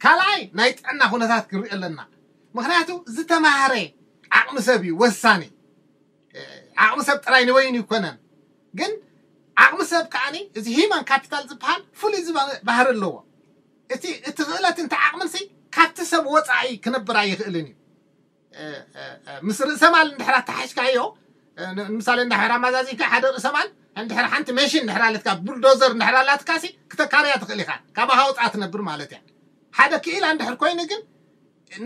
ካልኣይ ናይ ጥዕና ኩነታት ክርኢ ኣለና። ምክንያቱ ዝተማህረ ዓቕሚ ሰብ እዩ ወሳኒ። ዓቕሚ ሰብ ጥራይ ንበይኑ ይኮነን፣ ግን ዓቕሚ ሰብ ከዓኒ እዚ ሂማን ካፒታል ዝበሃል ፍሉይ ዝባ- ባህሪ ኣለዎ። እቲ እቲ ክእለት እንተ ዓቕምንሲ ካብቲ ሰብ ወፃኢ ክነብር ኣይኽእልን እዩ። ምስ ርእሰ ማል እንድሕር ኣተሓሽካዮ ንምሳሌ እንድሕር ኣማዛዚካ ሓደ ርእሰ ማል እንድሕር ሓንቲ መሽን እንድሕር ኣለትካ ቡልዶዘር እንድሕር ኣላትካ ሲ ክተካርያ ትኽእል ኢኻ፣ ካብ ሃውፃ ትነብር ማለት እያ። ሓደ ክኢላ እንድሕር ኮይኑ ግን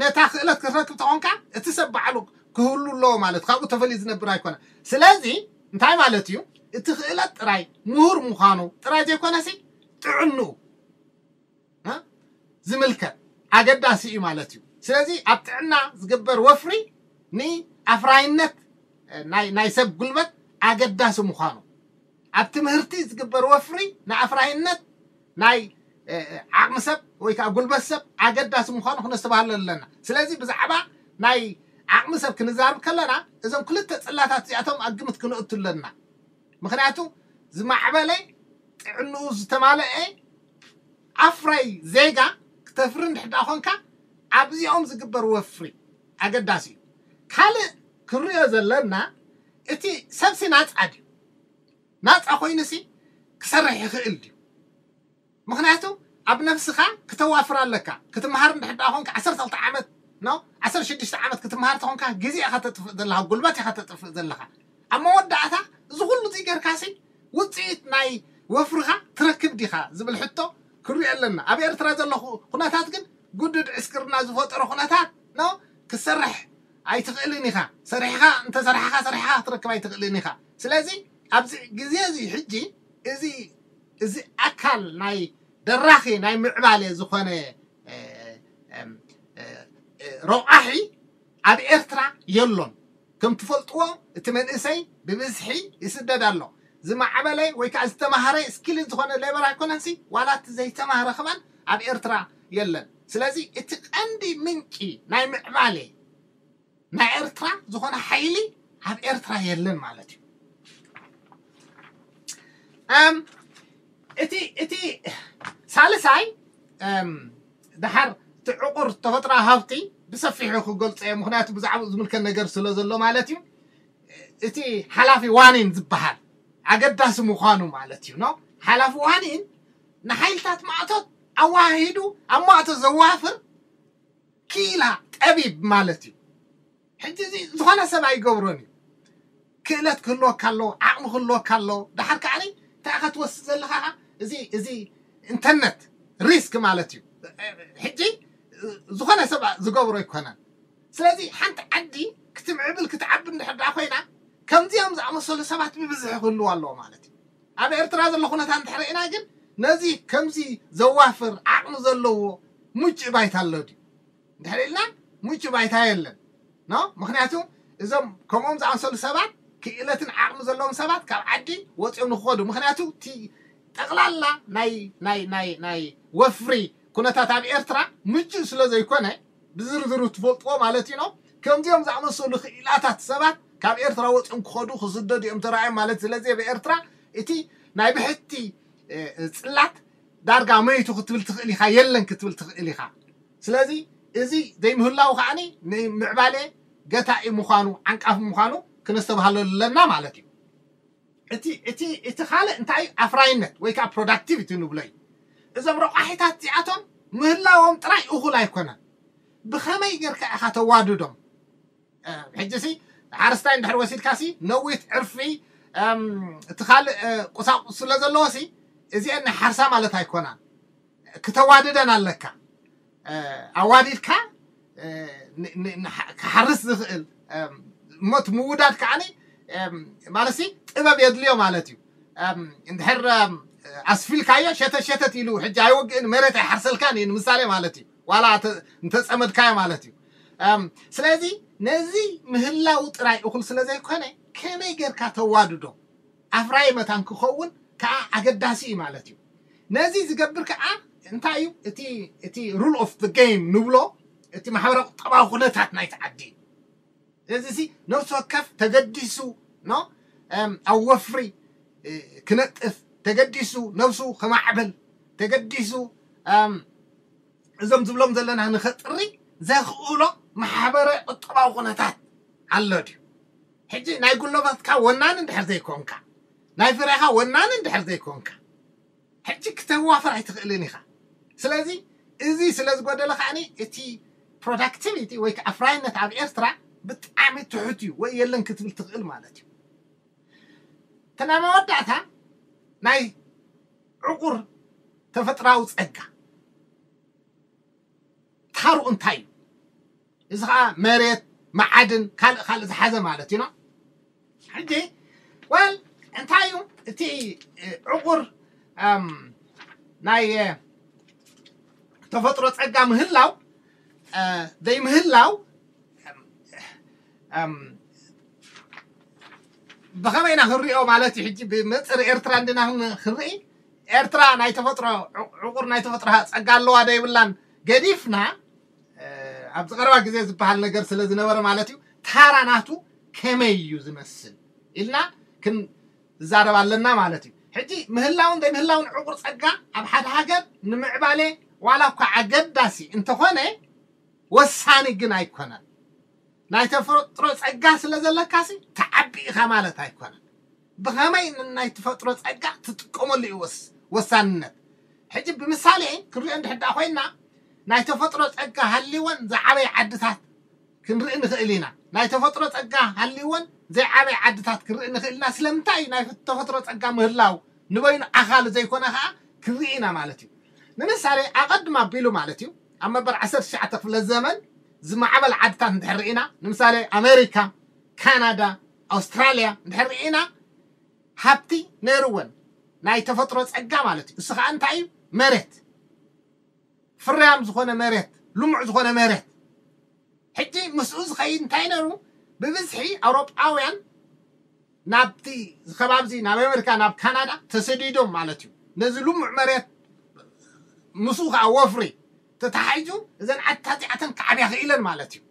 ነታ ክእለት ክትረክብ ተኾንካ እቲ ሰብ ባዕሉ ክህሉ ኣለዎ ማለት ካብኡ ተፈልዩ ዝነብር ኣይኮነ። ስለዚ እንታይ ማለት እዩ? እቲ ክእለት ጥራይ ምሁር ምዃኑ ጥራይ ዘይኮነሲ ጥዕንኡ ዝምልከት ኣገዳሲ እዩ ማለት እዩ። ስለዚ ኣብ ጥዕና ዝግበር ወፍሪ ንኣፍራይነት ናይ ሰብ ጉልበት ኣገዳሲ ምዃኑ፣ ኣብ ትምህርቲ ዝግበር ወፍሪ ንኣፍራይነት ናይ ዓቕሚ ሰብ ወይ ከዓ ጉልበት ሰብ ኣገዳሲ ምዃኑ ክነስተባህሎ ኣለና። ስለዚ ብዛዕባ ናይ ዓቕሚ ሰብ ክንዛርብ ከለና እዞም ክልተ ፅላታት እዚኣቶም ኣብ ግምት ክንእቱ ኣለና። ምክንያቱ ዝማዕበለ ጥዕንኡ ዝተማለአ ኣፍራይ ዜጋ ክተፍሪ እንድሕር ደኣ ኮንካ ኣብዚኦም ዝግበር ወፍሪ ኣገዳሲ እዩ። ካልእ ክንሪኦ ዘለና እቲ ሰብሲ ናፃ ድዩ? ናፃ ኮይኑሲ ክሰርሕ ይኽእል ድዩ? ምክንያቱ ኣብ ነብስኻ ክተዋፍር ኣለካ። ክትምሃር እንድሕር ደኣ ኮንካ ዓሰርተ ክልተ ዓመት ኖ ዓሰርተ ሽዱሽተ ዓመት ክትምሃር ተኾንካ ግዜ ኢኻ ተጥፍእ ዘለኻ፣ ጉልበት ኢኻ ተጥፍእ ዘለኻ። ኣብ መወዳእታ እዚ ኩሉ እዚ ጌርካሲ ውፅኢት ናይ ወፍርኻ ትረክብ ዲኻ ዝብል ሕቶ ክሪኦ ኣለና። ኣብ ኤርትራ ዘሎ ኩነታት ግን ጉድድ ዕስክርና ዝፈጠሮ ኩነታት ኖ ክሰርሕ ኣይትኽእልን ኢኻ። ሰሪሕኻ እንተሰራሕኻ ሰሪሕኻ ክትረክብ ኣይትኽእልን ኢኻ። ስለዚ ኣብዚ ግዜ እዚ ሕጂ እዚ እዚ ኣካል ናይ ደራኺ ናይ ምዕባለ ዝኾነ ረቋሒ ኣብ ኤርትራ የሎን። ከም ትፈልጥዎ እቲ መንእሰይ ብብዝሒ ይስደድ ኣሎ። ዝማዕበለ ወይ ከዓ ዝተማሃረ ስኪል ዝኾነ ሌበር ኣይኮነንሲ ዋላ እቲ ዘይተማህረ ከማን ኣብ ኤርትራ የለን። ስለዚ እቲ ቀንዲ ምንጪ ናይ ምዕባለ ናይ ኤርትራ ዝኾነ ሓይሊ ኣብ ኤርትራ የለን ማለት እዩ። እቲ እቲ ሳልሳይ ደሓር እቲ ዕቑር ተፈጥሮ ሃብቲ ብሰፊሑ ክገልፆ እየ፣ ምክንያቱ ብዛዕባኡ ዝምልከት ነገር ስለ ዘሎ ማለት እዩ። እቲ ሓላፊ ዋኒን ዝበሃል ኣገዳሲ ምዃኑ ማለት እዩ። ኖ ሓላፊ ዋኒን ንሓይልታት ማእቶት ኣዋሃሂዱ ኣብ ማእቶት ዘዋፍር ክኢላ ጠቢብ ማለት እዩ። ሕጂ እዚ ዝኾነ ሰብ ኣይገብሮን እዩ። ክእለት ክህልወካ ኣለዎ፣ ዓቕሚ ክህልወካ ኣለዎ። ደሓር ከዓኒ እንታይ ኢኻ ትወስድ ዘለኻ? እዚ እዚ ኢንተርነት ሪስክ ማለት እዩ። ሕጂ ዝኾነ ሰብ ዝገብሮ ኣይኮነን። ስለዚ ሓንቲ ዓዲ ክትምዕብል ክትዓቢ እንድሕር ደኣ ኮይና ከምዚኦም ዝኣመሰሉ ሰባት ብብዝሒ ክህልው ኣለዎ ማለት እዩ። ኣብ ኤርትራ ዘሎ ኩነታት እንድሕር ርኢና ግን ነዚ ከምዚ ዘዋፍር ዓቕሚ ዘለዎ ምቹእ ባይታ ኣሎ ድዩ? እንድሕር ኢልና ምቹ ባይታ የለን ኖ። ምክንያቱ እዞም ከምኦም ዝኣመሰሉ ሰባት ክእለትን ዓቕሚ ዘለዎም ሰባት ካብ ዓዲ ወፂኦም ንክኸዱ፣ ምክንያቱ እቲ ጠቕላላ ናይ ናይ ናይ ናይ ወፍሪ ኩነታት ኣብ ኤርትራ ምቹእ ስለ ዘይኮነ ብዝርዝሩ ትፈልጥዎ ማለት እዩ ኖ። ከምዚኦም ዝኣመሰሉ ክኢላታት ሰባት ካብ ኤርትራ ወፂኦም ክኸዱ ክስደዱ እዮም ተራእዮም ማለት። ስለዚ ኣብ ኤርትራ እቲ ናይ ብሕቲ ፅላት ዳርጋ መይቱ ክትብል ትኽእል ኢኻ፣ የለን ክትብል ትኽእል ኢኻ። ስለዚ እዚ ዘይምህላው ከዓኒ ንምዕባለ ገታኢ ምዃኑ ዓንቃፊ ምዃኑ ክነስተብሃለሉ ኣለና ማለት እዩ። እቲ እቲ እቲ ካልእ እንታይ ኣፍራይነት ወይ ከዓ ፕሮዳክቲቪቲ ንብሎ እዩ። እዞም ረቋሒታት እዚኣቶም ምህላዎም ጥራይ እኹል ኣይኮነን። ብኸመይ ጌርካ ኢኻ ተዋድዶም? ሕጂ ሲ ሓረስታይ እንድሕር ወሲድካ ሲ ነዊት ዕርፊ እቲ ካልእ ቁሳቁስ ስለ ዘለዎ ሲ እዚአን ናይ ሓርሳ ማለት ኣይኮናን። ክተዋድደን ኣለካ። ኣዋዲድካ ክሓርስ ዝኽእል እሞ እቲ ምውዳድ ከዓኒ ማለት ጥበብ የድልዮ ማለት እዩ። እንድሕር ኣስፊልካዮ ሸተት ሸተት ኢሉ ሕጂ ኣይወግእን፣ መሬት ኣይሓርሰልካን እዩ ንምሳሌ ማለት እዩ። ዋላ እንተፀመድካዮ ማለት እዩ። ስለዚ ነዚ ምህላው ጥራይ እኹል ስለ ዘይኮነ ከመይ ጌርካ ተዋድዶ ኣፍራይ መታን ክኸውን ከዓ ኣገዳሲ እዩ ማለት እዩ። ነዚ ዝገብር ከዓ እንታይ እዩ? እቲ rule of the game ንብሎ እቲ ማሕበረ ቁጠባዊ ኩነታት ናይቲ ዓዲ እዩ። እዚ ነፍሲ ወከፍ ተገዲሱ ኖ ኣብ ወፍሪ ክነጥፍ ተገዲሱ ነብሱ ከማዕብል ተገዲሱ እዞም ዝብሎም ዘለና ንኸጥሪ ዘኽእሎ ማሕበረ ቁጠባዊ ኩነታት ኣሎ ድዩ? ሕጂ ናይ ጉልበትካ ወናኒ እንድሕር ዘይኮንካ፣ ናይ ፍረኻ ወናኒ እንድሕር ዘይኮንካ፣ ሕጂ ክተዋፍር ኣይትኽእልን ኢኻ። ስለዚ እዚ ስለ ዝጎደለ ከዓኒ እቲ productivity ወይ ከዓ ኣፍራይነት ኣብ ኤርትራ ብጣዕሚ ትሑት እዩ ወይ የለን ክትብል ትኽእል ማለት እዩ። እቲ ናይ መወዳእታ ናይ ዕቑር ተፈጥራዊ ጸጋ ታሩ እንታይ እዩ? እዚ ከዓ መሬት፣ መዓድን ካልእ ካልእ ዝሓዘ ማለት እዩ። ሕጂ ወል እንታይ እዩ እቲ ዕቑር ናይ ተፈጥሮ ፀጋ ምህላው ዘይምህላው ብኸመይ ኢና ክንሪኦ ማለት እዩ? ሕጂ ብመፅር ኤርትራ እንድና ክንርኢ ኤርትራ ናይ ተፈጥሮ ዕቑር ናይ ተፈጥሮ ፀጋ ኣለዋ ዶ የብላን ገዲፍና ኣብዚ ቀረባ ግዜ ዝበሃል ነገር ስለ ዝነበረ ማለት እዩ። ታራ ናቱ ከመይ እዩ ዝመስል ኢልና ክንዛረብ ኣለና ማለት እዩ። ሕጂ ምህላውን ዘይምህላውን ዕቑር ፀጋ ኣብ ሓደ ሃገር ንምዕባሌ ዋላ እኳ ኣገዳሲ እንተኾነ ወሳኒ ግን ኣይኮነን። ናይ ተፈጥሮ ፀጋ ስለ ዘለካሲ ተዓቢ ኢኻ ማለት ኣይኮነን። ብኸመይ ናይ ተፈጥሮ ፀጋ ትጥቀመሉ እዩ ወሳንነት። ሕጂ ብምሳሌ ክንሪኦ እንድሕር ኮይና ናይ ተፈጥሮ ፀጋ ሃልወን ዝዓበየ ዓድታት ክንርኢ ንኽእል ኢና። ናይ ተፈጥሮ ፀጋ ሃልወን ዘይዓበየ ዓድታት ክንርኢ ንኽእል ኢና። ስለምንታይ እዩ ናይ ተፈጥሮ ፀጋ ምህላው ንበይኑ ኣኻሉ ዘይኮነ ከዓ ክንርኢ ኢና ማለት እዩ። ንምሳሌ ኣቐድም ኣቢሉ ማለት እዩ ኣብ መበል ዓሰርተ ትሽዓተ ክፍለ ዘመን ዝማዕበል ዓድታት እንድሕር ርኢና ንምሳሌ ኣሜሪካ፣ ካናዳ፣ ኣውስትራልያ እንድሕር ርኢና ሃብቲ ነይርወን ናይ ተፈጥሮ ፀጋ ማለት እዩ። እሱ ከዓ እንታይ እዩ? መሬት፣ ፍርያም ዝኾነ መሬት፣ ልሙዕ ዝኾነ መሬት። ሕጂ ምስኡ ዝኸይድ እንታይ ነሩ? ብብዝሒ ኣውሮጳውያን ናብቲ ከባብዚ ናብ ኣሜሪካ ናብ ካናዳ ተሰዲዶም ማለት እዩ። ነዚ ልሙዕ መሬት ምስኡ ከዓ ወፍሪ ተታሓይዙ እዘን ዓድታት እዚኣተን ክዓብያ ክኢለን ማለት እዩ።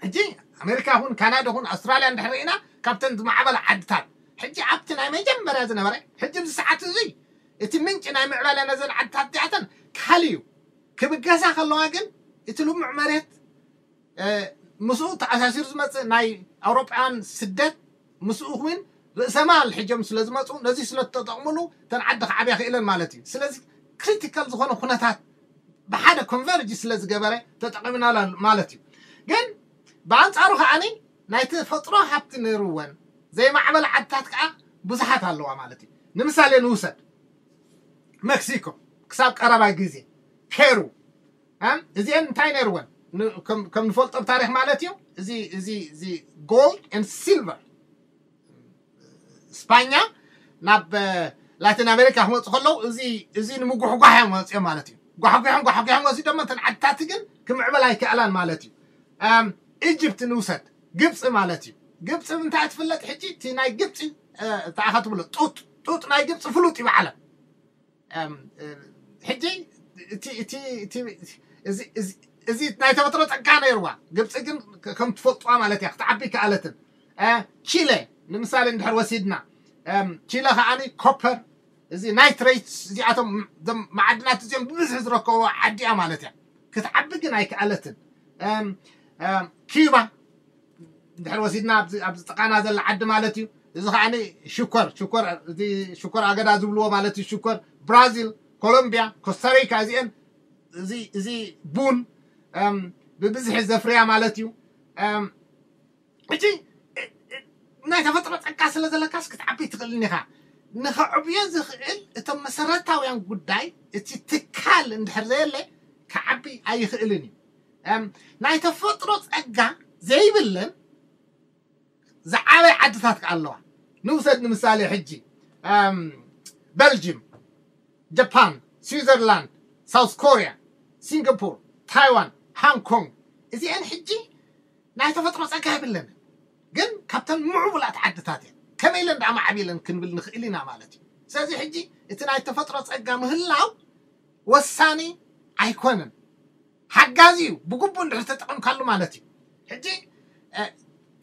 ሕጂ ኣሜሪካ ይኹን ካናዳ ይኹን ኣውስትራልያ እንድሕር ርኢና ካብተን ዝማዕበላ ዓድታት ሕጂ ኣብቲ ናይ መጀመርያ ዝነበረ ሕጂ ኣብዚ ሰዓት እዚ እቲ ምንጪ ናይ ምዕባለ ነዘን ዓድታት እዚኣተን ካልእ እዩ። ክብገሳ ከለዋ ግን እቲ ልሙዕ መሬት ምስኡ ተኣሳሲሩ ዝመፅእ ናይ ኣውሮጳውያን ስደት ምስኡ እውን ርእሰማል ሕጆም ስለ ዝመፁ ነዚ ስለ ተጠቕምሉ እተን ዓዲ ክዓብያ ክእለን ማለት እዩ። ስለዚ ክሪቲካል ዝኾነ ኩነታት ብሓደ ኮንቨርጅ ስለ ዝገበረ ተጠቒምናላ ማለት እዩ። ግን ብኣንፃሩ ከዓኒ ናይ ተፈጥሮ ሃብቲ ነይርወን ዘይማዕበላ ዓድታት ከዓ ብዙሓት ኣለዋ ማለት እዩ። ንምሳሌ ንውሰድ መክሲኮ ክሳብ ቀረባ ግዜ ፔሩ እዚአን እንታይ ነይርወን ከም ንፈልጦ ብታሪክ ማለት እዩ። እዚ እዚ እዚ ጎልድ ን ሲልቨር ስፓኛ ናብ ላቲን ኣሜሪካ ክመፁ ከለዉ እዚ እዚ ንምጉሕጓሕ እዮም መፅኦም ማለት እዩ። ጓሕጒሖም ጓሕጒሖም ወሲዶሞ እተን ዓድታት ግን ክምዕበል ኣይከኣላን ማለት እዩ። ኢጅፕት ንውሰድ ግብፂ ማለት እዩ። ግብፂ እንታይ ትፍለጥ ሕጂ እቲ ናይ ግብፂ እንታይ ኢኻ ትብሎ ጡጥ ጡጥ ናይ ግብፂ ፍሉጥ እዩ ብዓለም ሕጂ እዚ ናይ ተፈጥሮ ፀጋ ነይርዋ ግብፂ ግን ከም ትፈልጥዋ ማለት እያ ክትዓቢ ከኣለትን። ቺለ ንምሳሌ እንድሕር ወሲድና ቺለ ከዓኒ ኮፐር እዚ ናይትሬትስ እዚኣቶም ማዓድናት እዚኦም ብብዝሒ ዝረከብዎ ዓዲ እያ ማለት እያ። ክትዓቢ ግን ኣይከኣለትን። ኪዩባ እንድሕር ወሲድና ኣብዚ ጥቃና ዘላ ዓዲ ማለት እዩ። እዚ ከዓ ሽኮር ሽኮር እዚ ሽኮር ኣገዳ ዝብልዎ ማለት እዩ። ሽኮር ብራዚል፣ ኮሎምቢያ፣ ኮስታሪካ እዚአን እዚ ቡን ብብዝሒ ዘፍርያ ማለት እዩ። ሕጂ ናይ ተፈጥሮ ጸጋ ስለ ዘለካስ ክትዓቢ ትኽእልን ኢኻ። ንኸዕብዮ ዝኽእል እቶም መሰረታውያን ጉዳይ እቲ ትካል እንድሕር ዘየለ ክዓቢ ኣይኽእልን እዩ። እም፣ ናይ ተፈጥሮ ጸጋ ዘይብለን ዝዓበየ ዓድታት ከኣ ኣለዋ። ንውሰድ ንምሳሌ ሕጂ፣ እም፣ በልጅም፣ ጃፓን፣ ስዊዘርላንድ፣ ሳውስ ኮርያ፣ ሲንጋፖር፣ ታይዋን፣ ሃንግ ኮንግ፣ እዚአን ሕጂ ናይ ተፈጥሮ ጸጋ የብለንን። ግን ካብተን ምዕቡላት ዓድታት እየን። ከመይ ኢለን ደኣ ማዕቢለን ክንብል ንኽእል ኢና ማለት እዩ። ስለዚ ሕጂ እቲ ናይ ተፈጥሮ ጸጋ ምህላው ወሳኒ ኣይኮነን። ሓጋዚ እዩ፣ ብግቡእ እንድሕር ተጠቐምካሉ ማለት እዩ። ሕጂ፣ እ፣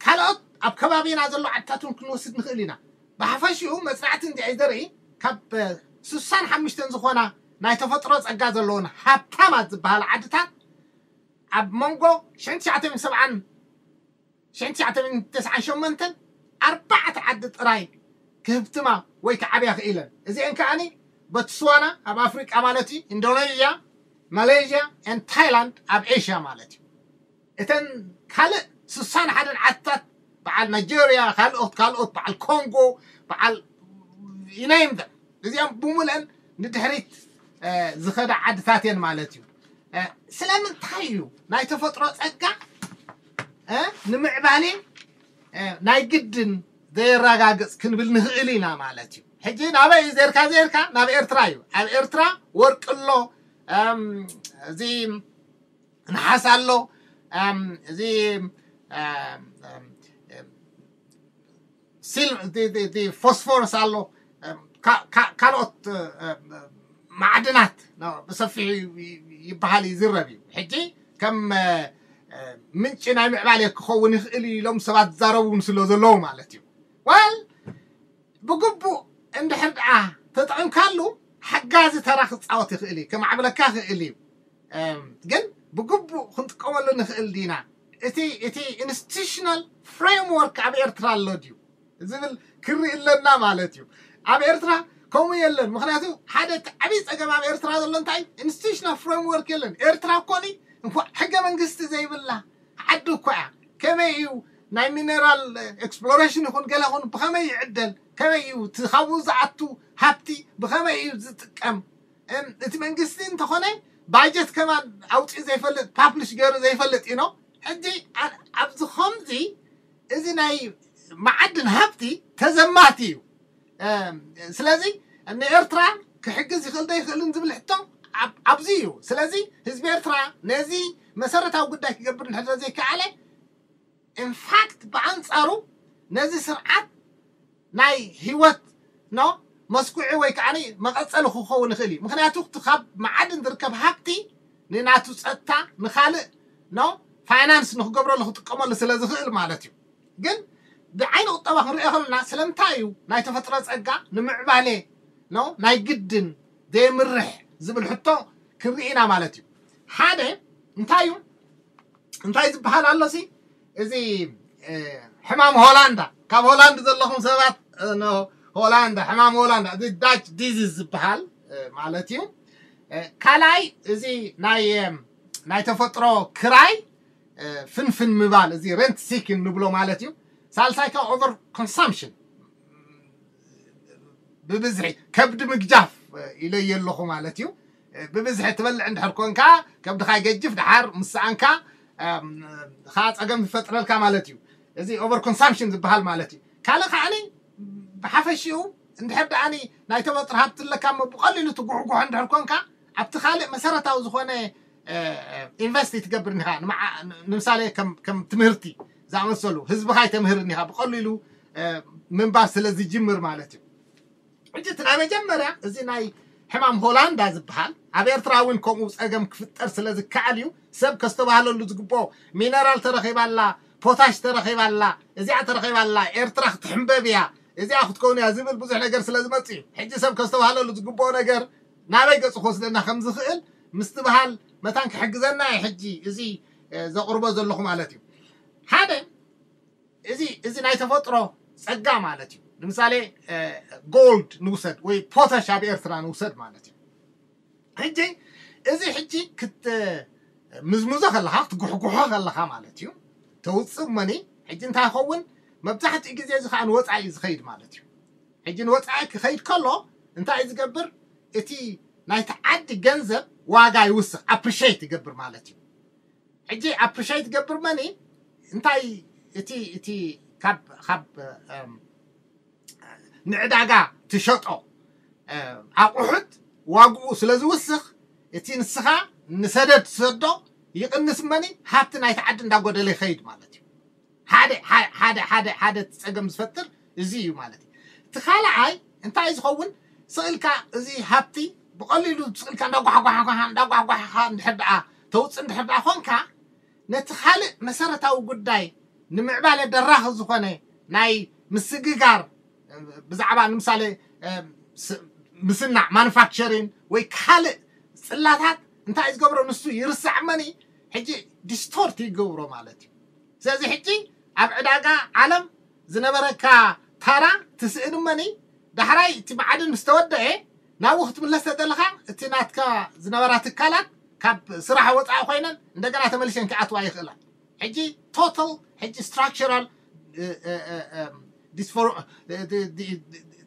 ካልኦት ኣብ ከባቢና ዘሎ ዓድታት እውን ክንወስድ ንኽእል ኢና። ብሓፈሽኡ መጽናዕቲ እንድዒ ዘርኢ ካብ፣ እ፣ ስሳን ሓሙሽተን ዝኾና ናይ ተፈጥሮ ጸጋ ዘለዎን ሃብታማት ዝበሃላ ዓድታት ኣብ መንጎ ሽሕን ትሽዓተ ሚእትን ሰብዓን ሽሕን ትሽዓተ ሚእትን ተስዓን ሸሞንተን ኣርባዕተ ዓዲ ጥራይ ክህብትማ ወይ ክዓብያ ክኢለን። እዚአን ከኣኒ ቦትስዋና ኣብ ኣፍሪቃ ማለት እዩ፣ ኢንዶኔዥያ፣ ማሌዥያ፣ ኤን ታይላንድ ኣብ ኤሽያ ማለት እዩ። እተን ካልእ ስሳን ሓደን ዓድታት በዓል ናይጀርያ፣ ካልኦት፣ ካልኦት፣ በዓል ኮንጎ፣ በዓል you name them፣ እዚኦም ብምልአን ንድሕሪት፣ እ፣ ዝኸዳ ዓድታት እየን ማለት እዩ። እ፣ ስለምንታይ እዩ ናይ ተፈጥሮ ጸጋ፣ እ፣ ንምዕባሌ፣ እ፣ ናይ ግድን ዘየረጋግጽ ክንብል ንኽእል ኢና ማለት እዩ። ሕጂ ናበይ እዩ ዜርካ ዜርካ? ናብ ኤርትራ እዩ። ኣብ ኤርትራ ወርቂ ኣሎ፣ እም፣ እዚ ነሓስ ኣሎ፣ እም፣ እዚ፣ እም፣ እም፣ እም፣ ሲል-፣ እቲ፣ እቲ፣ እቲ ፎስፎረስ ኣሎ፣ እም፣ ካ-፣ ካ-፣ ካልኦት፣ እም፣ ማዕድናት ኖ፣ ብሰፊሑ ይ-፣ ይ-፣ ይበሃል እዩ፣ ይዝረብ እዩ። ሕጂ ከም፣ እ፣ እ፣ ምንጪ ናይ ምዕባሌ ክኸውን ይኽእል እዩ ኢሎም ሰባት ዝዛረቡ እውን ስለ ዘለዉ ማለት እዩ። ዋል ብግቡእ እንድሕር ደኣ ተጠቒምካሉ ሓጋዚ ተራ ክጻወት ይኽእል እዩ፣ ከማዕብለካ ይኽእል እዩ። እም፣ ግን ብግቡእ ክንጥቀመሉ ንኽእል ዲና? እቲ፣ እቲ ኢንስቲቱሽናል ፍሬምወርክ ኣብ ኤርትራ ኣሎ ድዩ ዝብል ክርኢ ኣለና ማለት እዩ። ኣብ ኤርትራ ከምኡ የለን። ምኽንያቱ ሓደ እቲ ዓብዪ ጸገም ኣብ ኤርትራ ዘሎ እንታይ? ኢንስቲቱሽናል ፍሬምወርክ የለን። ኤርትራ እኮ ኒ እንኳዕ ሕገ መንግስቲ ዘይብላ ዓዲ እኮ እያ። ከመይ እዩ ናይ ሚነራል ኤክስፕሎሬሽን ይኹን ገለ ይኹን ብኸመይ ይዕደል? ከመይ እዩ እቲ ካብኡ ዝኣቱ ሃብቲ ብኸመይ እዩ ዝጥቀም? እም፣ እቲ መንግስቲ እንተኾነ ባጀት ከማን ኣውፂኡ ዘይፈልጥ፣ ፓብሊሽ ገይሩ ዘይፈልጥ እዩ ነው። ሕጂ ኣ-፣ ኣብዚ ኸምዚ እዚ ናይ መዓድን ሃብቲ ተዘማቲ እዩ። እም፣ ስለዚ ንኤርትራ ክሕግዝ ይኽእል ዶ ይኽእልን ዝብል ሕቶ ኣብ-፣ ኣብዚ እዩ። ስለዚ ህዝቢ ኤርትራ ነዚ መሰረታዊ ጉዳይ ክገብር እንድሕር ዘይከኣለ፣ ኢንፋክት ብኣንጻሩ ነዚ ስርዓት ናይ ህይወት ኖ መስኩዒ ወይ ከዓ መቐጸሊ ክኸውን ይኽእል እዩ። ምኽንያቱ እቲ ካብ መዓድን ዝርከብ ሃብቲ ንናቱ ጸጥታ፣ ንኻልእ ኖ ፋይናንስ ንክገብረሉ ክጥቀመሉ ስለ ዝኽእል ማለት እዩ። ግን ብዓይኒ ቁጠባ ክንሪኦ ከለና ስለምንታይ እዩ ናይ ተፈጥሮ ጸጋ ንምዕባሌ ኖ ናይ ግድን ዘይምርሕ ዝብል ሕቶ ክንርኢ ኢና ማለት እዩ። ሓደ እንታይ እዩ? እንታይ ዝበሃል ኣሎ ሲ? እዚ፣ እ፣ ሕማም ሆላንዳ፣ ካብ ሆላንድ ዘለኹም ሰባት፣ እ፣ ኖ፣ ሆላንዳ፣ ሕማም ሆላንዳ፣ እዚ ዳች ዲዚዝ ዝበሃል፣ እ፣ ማለት እዩ። እ፣ ካልኣይ እዚ ናይ፣ እ፣ ናይ ተፈጥሮ ክራይ፣ እ፣ ፍንፍን ምባል፣ እዚ ሬንት ሲኪን ንብሎ ማለት እዩ። ሳልሳይ ካብ ኦቨር ኮንሳምፕሽን፣ ብብዝሒ ከብዲ ምግጃፍ ኢለዮ ኣለኹ ማለት እዩ። ብብዝሒ ትበልዕ እንድሕር ኮንካ ከብድኻ ይገጅፍ፣ ደሓር ምስ ሰኣንካ፣ እም፣ ኸዓ ጸገም ይፈጥረልካ ማለት እዩ። እዚ ኦቨር ኮንሳምፕሽን ዝበሃል ማለት እዩ። ካልእ ከዓኒ ብሓፈሽኡ እንድሕር ደኣኒ ናይ ተፈጥሮ ሃብቲ ኣለካ እሞ ብቐሊሉ ትጉሕጉሖ እንድሕር ኮንካ ኣብቲ ካልእ መሰረታዊ ዝኾነ፣ እ፣ ኢንቨስት ይትገብር እንዲኻ። ንመዓ-፣ ንምሳሌ ከም፣ ከም ትምህርቲ ዝኣመሰሉ ህዝብኻ ይተምህር እንዲኻ ብቐሊሉ፣ እ፣ ምንባር ስለ ዝጅምር ማለት እዩ። ሕጂ እቲ ናይ መጀመርያ እዚ ናይ ሕማም ሆላንዳ ዝበሃል ኣብ ኤርትራ እውን ከምኡ ጸገም ክፍጠር ስለ ዝከኣል እዩ። ሰብ ከስተባህለሉ ዝግብኦ፣ ሚነራል ተረኺባላ፣ ፖታሽ ተረኺባላ፣ እዚኣ ተረኺባላ፣ ኤርትራ ክትሕንበብ እያ፣ እዚኣ ክትከውን እያ ዝብል ብዙሕ ነገር ስለ ዝመጽእ እዩ። ሕጂ ሰብ ከስተባህለሉ ዝግብኦ ነገር ናበይ ገጹ ክወስደና ከም ዝኽእል ምስትብሃል መታን ክሕግዘና እዩ። ሕጂ እዚ፣ እ፣ ዘቕርቦ ዘለኹ ማለት እዩ። ሓደ እዚ፣ እዚ ናይ ተፈጥሮ ጸጋ ማለት እዩ። ንምሳሌ፣ እ፣ ጎልድ ንውሰድ ወይ ፖታሽ ኣብ ኤርትራ ንውሰድ ማለት እዩ። ሕጂ እዚ ሕጂ ክት-፣ ምዝምዞ ከለኻ፣ ክትጉሕጉሖ ከለኻ ማለት እዩ። ተውጽእ እሞኒ፣ ሕጂ እንታይ ይኸውን? መብዛሕትኡ ግዜ እዚ ከዓ ንወፃኢ እዩ ዝኸይድ ማለት እዩ። ሕጂ ንወፃኢ ክኸይድ ከሎ እንታይ እዩ ዝገብር? እቲ ናይቲ ዓዲ ገንዘብ ዋጋ ይውስኽ፣ ኣፕሪሼት ይገብር ማለት እዩ። ሕጂ ኣፕሪሼት ይገብር መኒ እንታይ እቲ እቲ ካብ ካብ ንዕዳጋ ትሸጦ ኣቑሑት ዋግኡ ስለ ዝውስኽ እቲ ንስኻ ንሰደድ ትሰዶ ይቕንስ መኒ ሃብቲ ናይቲ ዓዲ እንዳጎደለ ይኸይድ ማለት እዩ። ሓደ ሓደ ሓደ ሓደ ሓደ እቲ ፀገም ዝፈጥር እዚ እዩ ማለት እዩ። እቲ ካልኣይ እንታይ ዝኸውን ስእልካ እዚ ሃብቲ ብቐሊሉ ስእልካ እንዳጓሕጓሕካ እንዳጓሕጓሕካ እንድሕር ደኣ ተውፅእ እንድሕር ደኣ ኮንካ ነቲ ካልእ መሰረታዊ ጉዳይ ንምዕባለ ደራኺ ዝኾነ ናይ ምስግጋር ብዛዕባ ንምሳሌ ምስናዕ ማኑፋክቸሪን ወይ ካልእ ፅላታት እንታይ ዝገብሮ ንሱ ይርሳዕ መኒ ሕጂ ዲስቶርት ይገብሮ ማለት እዩ። ስለዚ ሕጂ ኣብ ዕዳጋ ዓለም ዝነበረካ ታራ ትስእን መኒ ዳሕራይ እቲ ማዕድን ምስ ተወደአ ናብኡ ክትምለስ ተደለኻ እቲ ናትካ ዝነበራ ትካላት ካብ ስራሕ ወፃኢ ኮይነን እንደገና ተመሊሰን ክኣትዋ ይኽእላ። ሕጂ ቶታል ሕጂ ስትራክቸራል ዲስፎር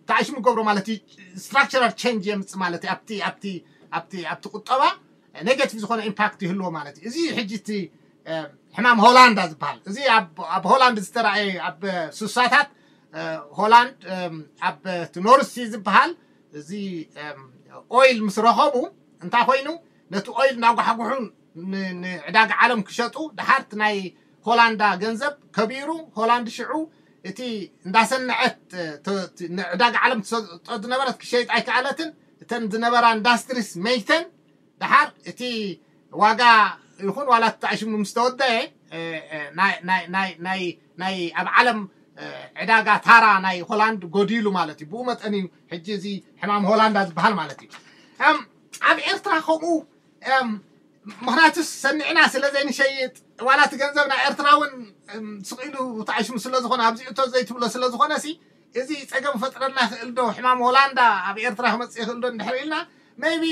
ተኣሽሙ ገብሮ ማለት እዩ። ስትራክቸራል ቸንጅ የምፅእ ማለት እዩ። ኣብቲ ኣብቲ ኣብቲ ኣብቲ ቁጠባ ኔጋቲቭ ዝኾነ ኢምፓክት ይህልዎ ማለት እዩ። እዚ ሕጂ እቲ ሕማም ሆላንዳ ዝበሃል እዚ ኣብ ሆላንድ ዝተረኣየ ኣብ ሱሳታት ሆላንድ ኣብ ኖርሲ ዝበሃል እዚ ኦይል ምስ ረኸቡ እንታይ ኮይኑ ነቲ ኦይል እናጓሕጉሑ ንዕዳጋ ዓለም ክሸጡ ድሓር ናይ ሆላንዳ ገንዘብ ከቢሩ ሆላንድ ሽዑ እቲ እንዳሰነዐት ንዕዳጋ ዓለም ትሰጦ ዝነበረት ክሸይጥ ኣይከኣለትን። እተን ዝነበራ ኢንዳስትሪስ መይተን ድሓር እቲ ዋጋ ይኹን ዋላ ተኣሽሙ ምስ ተወደአ ናይ ኣብ ዓለም ዕዳጋ ታራ ናይ ሆላንድ ጎዲሉ ማለት እዩ። ብኡ መጠን እዩ ሕጂ እዚ ሕማም ሆላንዳ ዝበሃል ማለት እዩ። ኣብ ኤርትራ ከምኡ ምክንያቱ ሰኒዕና ስለ ዘይንሸይጥ ዋላ እቲ ገንዘብ ናይ ኤርትራ እውን ስቕ ኢሉ ተኣሽሙ ስለ ዝኾነ ኣብዚ እቶ ዘይትብሎ ስለ ዝኾነ ሲ እዚ ፀገም ፈጥረልና ይኽእል ዶ? ሕማም ሆላንዳ ኣብ ኤርትራ ክመፅእ ይኽእል ዶ እንድሕር ኢልና maybe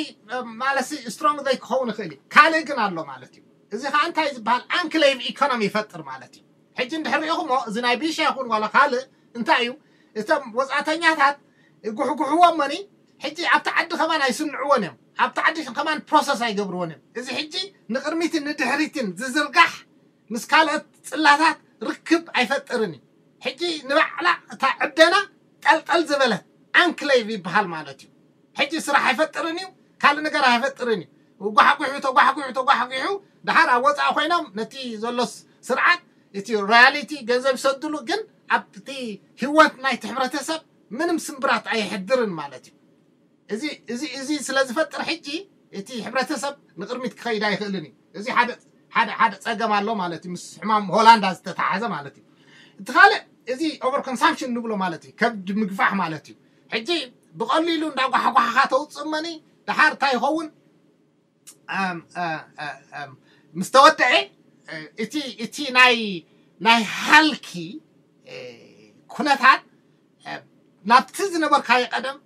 ማለት ሲ ስትሮንግ ዘይክኸውን ይኽእል እዩ። ካልእ ግን ኣሎ ማለት እዩ። እዚ ከዓ እንታይ ዝበሃል ኣንክሌቭ ኢኮኖሚ ይፈጥር ማለት እዩ። ሕጂ እንድሕር ሪኢኹሞ እዚ ናይ ቢሻ ይኹን ዋላ ካልእ እንታይ እዩ እቶም ወፃእተኛታት ይጉሕጉሕዎም መኒ ሕጂ ኣብቲ ዓዲ ከማን ኣይስንዕዎን እዮም። ኣብቲ ዓዲ ከማን ፕሮሰስ ኣይገብርዎን እዮም። እዚ ሕጂ ንቕድሚትን ንድሕሪትን ዝዝርጋሕ ምስ ካልኦት ፅላታት ርክብ ኣይፈጥርን እዩ። ሕጂ ንባዕላ እታ ዕደና ጠልጠል ዝበለት ኣንክሌቭ ይበሃል ማለት እዩ። ሕጂ ስራሕ ኣይፈጥርን እዩ፣ ካልእ ነገር ኣይፈጥርን እዩ። ጓሕጒሑ ተጓሕጒሑ ተጓሕጒሑ ድሓር ኣብ ወፃኢ ኮይኖም ነቲ ዘሎ ስርዓት እቲ ሮያሊቲ ገንዘብ ይሰድሉ፣ ግን ኣብቲ ህይወት ናይቲ ሕብረተሰብ ምንም ስምብራት ኣየሕድርን ማለት እዩ። እዚ እዚ እዚ ስለ ዝፈጥር ሕጂ እቲ ሕብረተሰብ ንቕድሚት ክኸይድ ኣይኽእልን እዩ። እዚ ሓደ ሓደ ሓደ ፀገም ኣሎ ማለት እዩ፣ ምስ ሕማም ሆላንዳ ዝተተሓዘ ማለት እዩ። እቲ ካልእ እዚ ኦቨር ኮንሳምፕሽን ንብሎ ማለት እዩ፣ ከብዲ ምግፋሕ ማለት እዩ። ሕጂ ብቐሊሉ እንዳጓሕጓሕኻ ተውፅእ መኒ ድሓር እንታይ ይኸውን? ምስ ተወደአ እቲ እቲ ናይ ናይ ሃልኪ ኩነታት ናብቲ ዝነበርካዮ ቀደም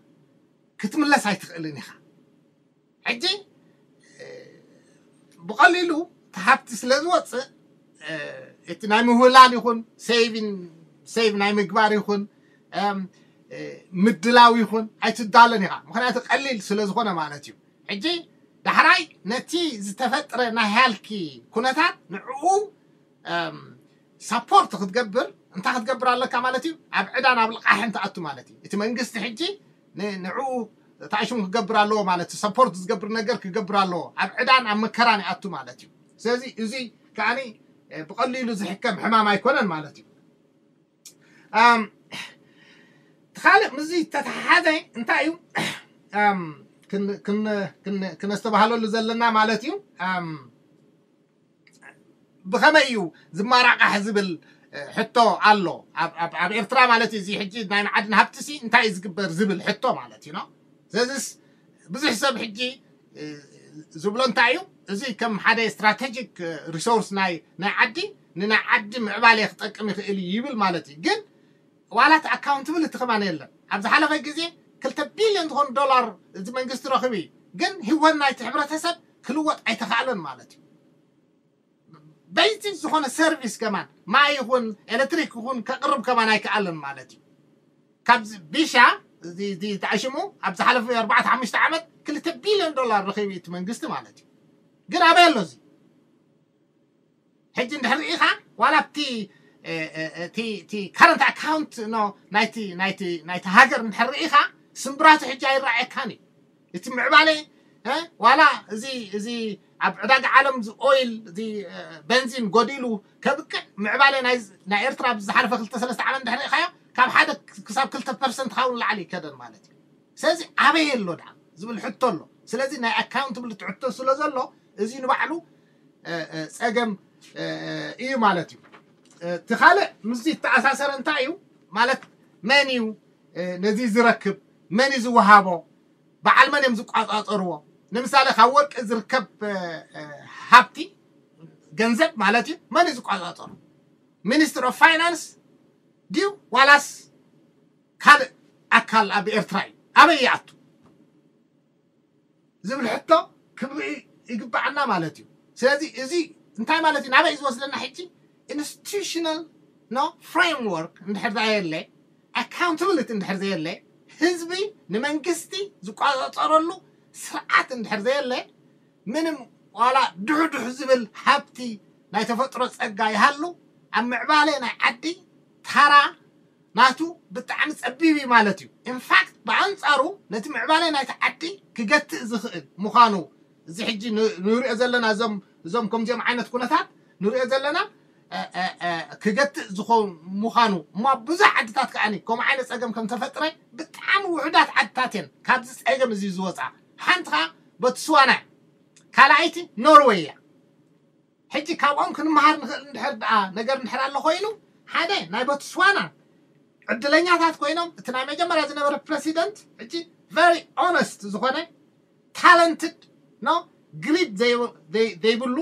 ክትምለስ ኣይትኽእልን ኢኻ። ሕጂ ብቐሊሉ እቲ ሃብቲ ስለ ዝወፅእ እቲ ናይ ምህውላል ይኹን ሴቪን ሴቭ ናይ ምግባር ይኹን ምድላው ይኹን ኣይትዳለን ኢኻ። ምክንያቱ ቀሊል ስለ ዝኾነ ማለት እዩ። ሕጂ ዳሕራይ ነቲ ዝተፈጥረ ናይ ሃልኪ ኩነታት ንዕኡ ሳፖርት ክትገብር እንታይ ክትገብር ኣለካ ማለት እዩ? ኣብ ዕዳን ኣብ ልቓሕን ትኣቱ ማለት እዩ። እቲ መንግስቲ ሕጂ ንዕኡ ታሽሙ ክገብር ኣለዎ ማለት እዩ። ሰፖርት ዝገብር ነገር ክገብር ኣለዎ። ኣብ ዕዳን ኣብ መከራን ይኣቱ ማለት እዩ። ስለዚ እዚ ከዓኒ ብቐሊሉ ዝሕከም ሕማም ኣይኮነን ማለት እዩ። ካልእ ምስዚ ተተሓሓዘ እንታይ እዩ ክነስተባሃለሉ ዘለና ማለት እዩ? ብኸመይ እዩ ዝመራቃሕ ዝብል ሕቶ ኣሎ። ኣብ ኤርትራ ማለት እዩ። እዚ ሕጂ ናይ መዓድን ሃብቲ ሲ እንታይ እዩ ዝግበር ዝብል ሕቶ ማለት እዩ። ስለዚስ ብዙሕ ሰብ ሕጂ ዝብሎ እንታይ እዩ፣ እዚ ከም ሓደ ስትራቴጂክ ሪሶርስ ናይ ናይ ዓዲ ንናይ ዓዲ ምዕባለ ክጠቅም ይኽእል እዩ ይብል ማለት እዩ። ግን ዋላት ኣካውንትብል እቲ ከማን የለን። ኣብ ዝሓለፈ ግዜ ክልተ ቢልዮን ዝኾኑ ዶላር እዚ መንግስቲ ረኽቡ እዩ። ግን ህይወት ናይቲ ሕብረተሰብ ክልወጥ ኣይተኻእለን ማለት እዩ። ቤዚክ ዝኾነ ሰርቪስ ከማን ማይ ይኹን ኤሌክትሪክ ይኹን ከቕርብ ከማን ኣይከኣልን ማለት እዩ። ካብዚ ቢሻ እዚ ተኣሽሙ ኣብ ዝሓለፈ ኣርባዕተ ሓሙሽተ ዓመት ክልተ ቢልዮን ዶላር ረኺቡ እቲ መንግስቲ ማለት እዩ። ግን ኣበይ ኣሎ እዚ? ሕጂ እንድሕር ርኢኻ ዋላ ኣብቲ እቲ ከረንት ኣካውንት ናይቲ ናይቲ ናይቲ ሃገር እንድሕር ርኢኻ ስምብራቱ ሕጂ ኣይረኣየካን እዩ። እቲ ምዕባለ ዋላ እዚ እዚ ኣብ ዕዳጋ ዓለም እዚ ኦይል እዚ በንዚን ጎዲሉ ከብቅዕ ምዕባለ ናይ ኤርትራ ብዝሓለፈ ክልተ ሰለስተ ዓመት እንድሕር ርኢኻዮ ካብ ሓደ ክሳብ ክልተ ፐርሰንት ክኸውን ላዕሊ ይከደን ማለት እዩ። ስለዚ ኣበይ ኣሎ ደኣ ዝብል ሕቶ ኣሎ። ስለዚ ናይ ኣካውንታብሊቲ ሕቶ ስለ ዘሎ እዚ ንባዕሉ ጸገም እዩ ማለት እዩ። እቲ ካልእ ምስዚ ዝተኣሳሰረ እንታይ እዩ ማለት መን እዩ ነዚ ዝረክብ፣ መን እዩ ዝወሃቦ፣ በዓል መን እዮም ዝቋጻጸርዎ? ንምሳሌ ካብ ወርቂ ዝርከብ ሃብቲ ገንዘብ ማለት እዩ መን እዩ ዝቋጻጸሩ? ሚኒስትር ኦፍ ፋይናንስ ድዩ ዋላስ ካልእ ኣካል ኣብ ኤርትራ እዩ? ኣበይ ይኣቱ ዝብል ሕቶ ክንርኢ ይግባዓና ማለት እዩ። ስለዚ እዚ እንታይ ማለት እዩ? ናበይ እዩ ዝወስደና ሕጂ? ኢንስቲቱሽናል ኖ ፍሬምወርክ እንድሕር ዘየለ፣ ኣካውንታብሊቲ እንድሕር ዘየለ፣ ህዝቢ ንመንግስቲ ዝቋጻጸረሉ ስርዓት እንድሕር ዘየለ፣ ምንም ዋላ ድሕድሕ ዝብል ሃብቲ ናይ ተፈጥሮ ጸጋ ይሃሉ ኣብ ምዕባለ ናይ ዓዲ ታራ ናቱ ብጣዕሚ ጸቢብ እዩ ማለት እዩ። ኢንፋክት ብኣንጻሩ ነቲ ምዕባለ ናይቲ ዓዲ ክገትእ ዝኽእል ምዃኑ እዚ ሕጂ ንሪኦ ዘለና እዞም እዞም ከምዚኦም ዓይነት ኩነታት ንሪኦ ዘለና ክገትእ ዝኾን ምዃኑ እሞ ኣብ ብዙሕ ዓድታት ከዓኒ ከምኡ ዓይነት ጸገም ከም ተፈጥረ ብጣዕሚ ውሑዳት ዓድታት እየን ካብዚ ጸገም እዚ ዝወፃ። ሓንቲ ከዓ ቦትስዋና እያ። ካልኣይቲ ኖርወይ እያ። ሕጂ ካብኦም ክንመሃር ንኽእል እንድሕር ደኣ ነገር እንድሕር ኣሎ ኮይኑ ሓደ ናይ ቦትስዋና ዕድለኛታት ኮይኖም እቲ ናይ መጀመርያ ዝነበረ ፕረሲደንት ሕጂ ቨሪ ኦነስት ዝኾነ ታለንትድ ኖ ግሪድ ዘይብሉ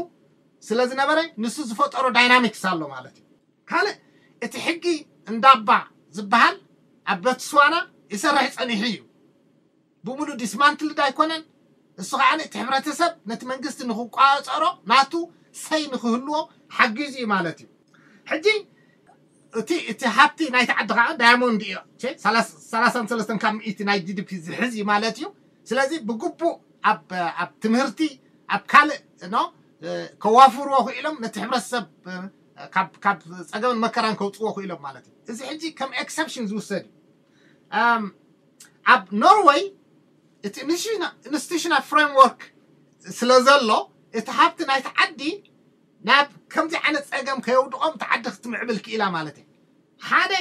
ስለ ዝነበረ ንሱ ዝፈጠሮ ዳይናሚክስ ኣሎ ማለት እዩ። ካልእ እቲ ሕጊ እንዳባ ዝበሃል ኣብ ቦትስዋና ይሰርሕ ጸኒሑ እዩ። ብምሉ ዲስማንትልድ ኣይኮነን። እሱ ከዓ እቲ ሕብረተሰብ ነቲ መንግስቲ ንክቋፀሮ ናቱ ሰይ ንክህልዎ ሓጊዙ እዩ ማለት እዩ። ሕጂ እቲ እቲ ሃብቲ ናይቲ ዓዲ ከዓ ዳያሞንድ እዩ። ሰላሳን ሰለስተን ካብ ሚእቲ ናይ ጂዲፒ ዝሕዝ እዩ ማለት እዩ። ስለዚ ብግቡእ ኣብ ኣብ ትምህርቲ ኣብ ካልእ ኖ ከዋፍርዎ ክኢሎም ነቲ ሕብረተሰብ ካብ ካብ ፀገምን መከራን ከውፅዎ ክኢሎም ማለት እዩ። እዚ ሕጂ ከም ኤክሰፕሽን ዝውሰድ እዩ። ኣብ ኖርወይ እቲ ኢንስቲቱሽናል ፍሬምወርክ ስለ ዘሎ እቲ ሃብቲ ናይቲ ዓዲ ናብ ከምዚ ዓይነት ፀገም ከየውድቖም እቲ ዓዲ ክትምዕብል ክኢላ ማለት እዩ። ሓደ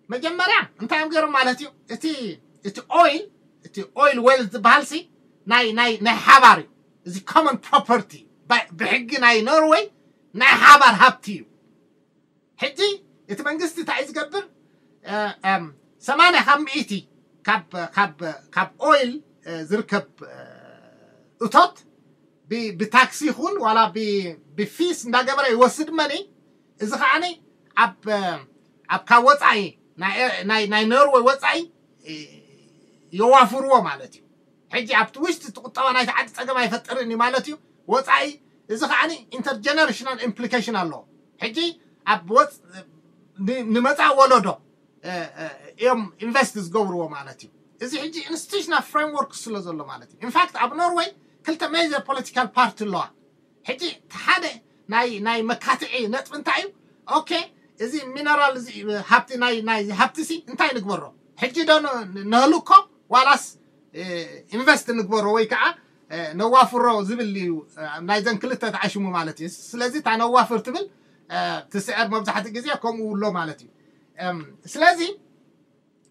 መጀመርያ እንታይ እዮም ገይሮም ማለት እዩ? እቲ እቲ ኦይል እቲ ኦይል ዌል ዝበሃል ሲ ናይ ናይ ናይ ሓባር እዩ። እዚ ኮመን ፕሮፐርቲ ብሕጊ ናይ ኖርወይ ናይ ሓባር ሃብቲ እዩ። ሕጂ እቲ መንግስቲ እንታይ እዩ ዝገብር? ሰማንያ ካብ ሚእቲ ካብ ኦይል ዝርከብ እቶት ብታክሲ ይኹን ዋላ ብፊስ እንዳገበረ ይወስድ መኒ። እዚ ከዓኒ ኣብ ካብ ወፃኢ ናይ ኖርወይ ወፃኢ የዋፍርዎ ማለት እዩ። ሕጂ ኣብቲ ውሽጢ እቲ ቁጠባ ናይቲ ዓዲ ፀገም ኣይፈጥርን እዩ ማለት እዩ። ወፃኢ እዚ ከዓ ኢንተርጀነሬሽናል ኢምፕሊኬሽን ኣለዎ። ሕጂ ኣብ ወፅ ንመፃእ ወለዶ እዮም ኢንቨስት ዝገብርዎ ማለት እዩ። እዚ ሕጂ ኢንስቲቱሽናል ፍሬምወርክ ስለ ዘሎ ማለት እዩ። ኢንፋክት ኣብ ኖርወይ ክልተ ሜጀር ፖለቲካል ፓርቲ ኣለዋ። ሕጂ ሓደ ናይ ናይ መካትዒ ነጥቢ እንታይ እዩ? ኦኬ፣ እዚ ሚነራል እዚ ሃብቲ ናይ ናይ ሃብቲ ሲ እንታይ ንግበሮ? ሕጂ ዶ ነህልኮ ዋላስ ኢንቨስት ንግበሮ ወይ ከዓ ነዋፍሮ ዝብል እዩ። ናይዘን ክልተ ተዓሽሙ ማለት እዩ። ስለዚ እታ ነዋፍር ትብል ትስዕር መብዛሕትኡ ግዜ ከምኡ ኣሎ ማለት እዩ። ስለዚ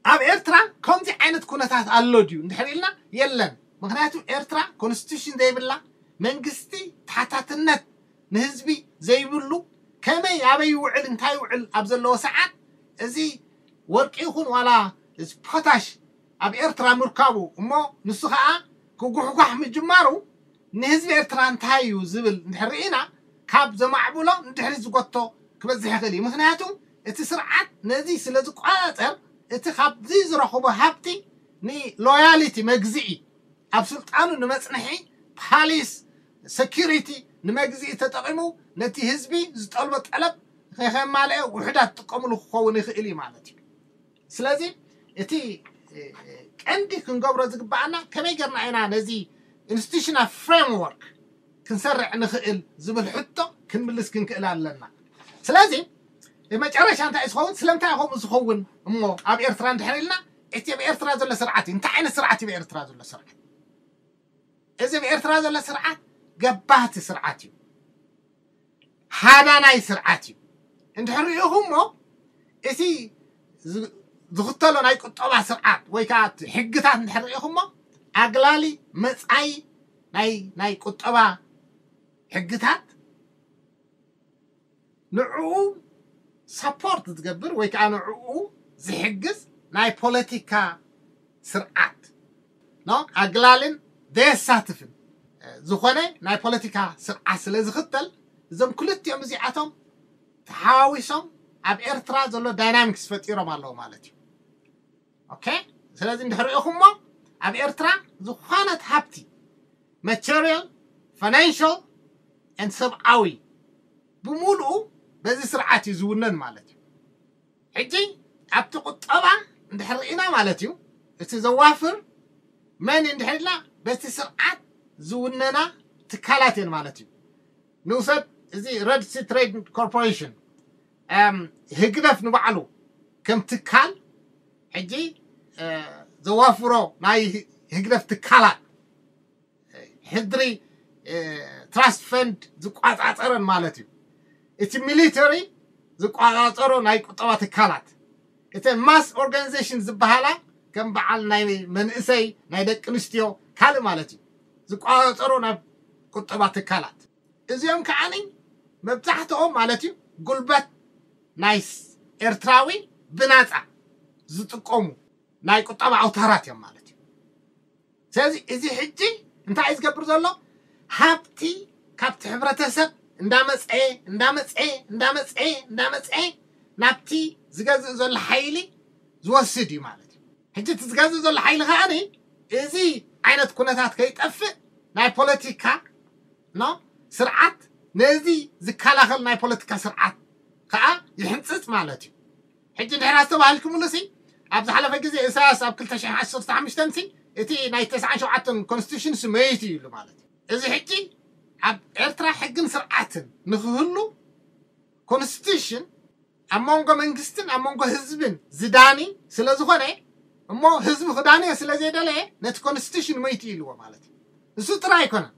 ኣብ ኤርትራ ከምዚ ዓይነት ኩነታት ኣሎ ድዩ እንድሕር ኢልና የለን። ምክንያቱ ኤርትራ ኮንስቲቱሽን ዘይብላ መንግስቲ ተሓታትነት ንህዝቢ ዘይብሉ ከመይ ኣበይ ይውዕል እንታይ ይውዕል ኣብ ዘለዎ ሰዓት እዚ ወርቂ ይኹን ዋላ እዚ ፖታሽ ኣብ ኤርትራ ምርካቡ እሞ ንሱ ከዓ ክጉሕጓሕ ምጅማሩ ንህዝቢ ኤርትራ እንታይ እዩ ዝብል እንድሕር ርኢና ካብ ዘማዕብሎ ንድሕሪት ዝጎቶ ክበዝሕ ይኽእል እዩ። ምክንያቱ እቲ ስርዓት ነዚ ስለ ዝቆፃፀር እቲ ካብዚ ዝረኽቦ ሃብቲ ንሎያሊቲ መግዝኢ ኣብ ስልጣኑ ንመፅንሒ ፓሊስ ሰኪሪቲ ንመግዝኢ ተጠቒሙ ነቲ ህዝቢ ዝጠልቦ ጠለብ ከይከማልአ ውሑዳት ጥቀምሉ ክኸውን ይኽእል እዩ ማለት እዩ። ስለዚ እቲ ቀንዲ ክንገብሮ ዝግባኣና ከመይ ገርና ኢና ነዚ institutional framework ክንሰርዕ ንኽእል ዝብል ሕቶ ክንምልስ ክንክእል ኣለና። ስለዚ መጨረሻ እንታይ ዝኸውን ስለምንታይ ከምኡ ዝኸውን እሞ ኣብ ኤርትራ እንድሕር ኢልና እቲ ኣብ ኤርትራ ዘሎ ስርዓት እዩ። እንታይ ዓይነት ስርዓት እዩ ኣብ ኤርትራ ዘሎ ስርዓት? እዚ ኣብ ኤርትራ ዘሎ ስርዓት ገባቲ ስርዓት እዩ። ሃዳናይ ስርዓት እዩ። እንድሕር ሪኢኹሞ እቲ ዝኽተሎ ናይ ቁጠባ ስርዓት ወይ ከዓ ሕግታት እንድሕር ሪኢኹሞ ኣግላሊ መፃኢ ናይ ናይ ቁጠባ ሕግታት ንዕኡ support ዝገብር ወይ ከዓ ንዕኡ ዝሕግዝ ናይ ፖለቲካ ስርዓት ኖ ኣግላልን ዘየሳትፍን ዝኾነ ናይ ፖለቲካ ስርዓት ስለ ዝኽተል እዞም ክልቲኦም እዚኣቶም ተሓዋዊሶም ኣብ ኤርትራ ዘሎ dynamics ፈጢሮም ኣለዉ ማለት እዩ። okay ስለዚ እንድሕር ሪኢኹሞ ኣብ ኤርትራ ዝኾነት ሃብቲ material financial and ሰብኣዊ ብምሉኡ በዚ ስርዓት እዩ ዝውነን ማለት እዩ። ሕጂ ኣብቲ ቁጠባ እንድሕር ርኢና ማለት እዩ እቲ ዘዋፍር መን እንድሕር ኢልና በቲ ስርዓት ዝውነና ትካላት እየን ማለት እዩ። ንውሰድ እዚ Red Sea Trade Corporation ህግደፍ ንባዕሉ ከም ትካል ሕጂ ዘዋፍሮ ናይ ህግደፍ ትካላት ሕድሪ trust fund ዝቋፃፀረን ማለት እዩ። እቲ ሚሊተሪ ዝቋፃፀሮ ናይ ቁጠባ ትካላት እቲ mass organization ዝበሃላ ከም በዓል ናይ መንእሰይ ናይ ደቂ ኣንስትዮ ካልእ ማለት እዩ ዝቋፃፀሮ ናይ ቁጠባ ትካላት እዚኦም ከዓኒ መብዛሕትኦም ማለት እዩ ጉልበት ናይ ኤርትራዊ ብናፃ ዝጥቀሙ ናይ ቁጠባ ኣውታራት እዮም ማለት እዩ። ስለዚ እዚ ሕጂ እንታይ እዩ ዝገብር ዘሎ? ሃብቲ ካብቲ ሕብረተሰብ እንዳመፀ እንዳመፀ እንዳመፀ እንዳመፀ ናብቲ ዝገዝእ ዘሎ ሓይሊ ዝወስድ እዩ ማለት እዩ። ሕጂ እቲ ዝገዝእ ዘሎ ሓይሊ ከዓኒ እዚ ዓይነት ኩነታት ከይጠፍእ ናይ ፖለቲካ ኖ ስርዓት ነዚ ዝከላኸል ናይ ፖለቲካ ስርዓት ከዓ ይሕንፅፅ ማለት እዩ። ሕጂ ድሕር ኣስተባሂልኩምሉ ሲ ኣብ ዝሓለፈ ግዜ ኢሳያስ ኣብ ክልተ ሽሕን ዓሰርተ ሓሙሽተን ሲ እቲ ናይ ተስዓን ሸውዓተን constitution ሲ መይቱ እዩ ኢሉ ማለት እዩ። እዚ ሕጂ ኣብ ኤርትራ ሕግን ስርዓትን ንክህሉ constitution ኣብ መንጎ መንግስትን ኣብ መንጎ ህዝብን ዝዳኒ ስለ ዝኾነ እሞ ህዝቢ ክዳንዮ ስለ ዘይደለየ ነቲ constitution መይቱ ኢልዎ ማለት እዩ። እሱ ጥራይ ኣይኮነን።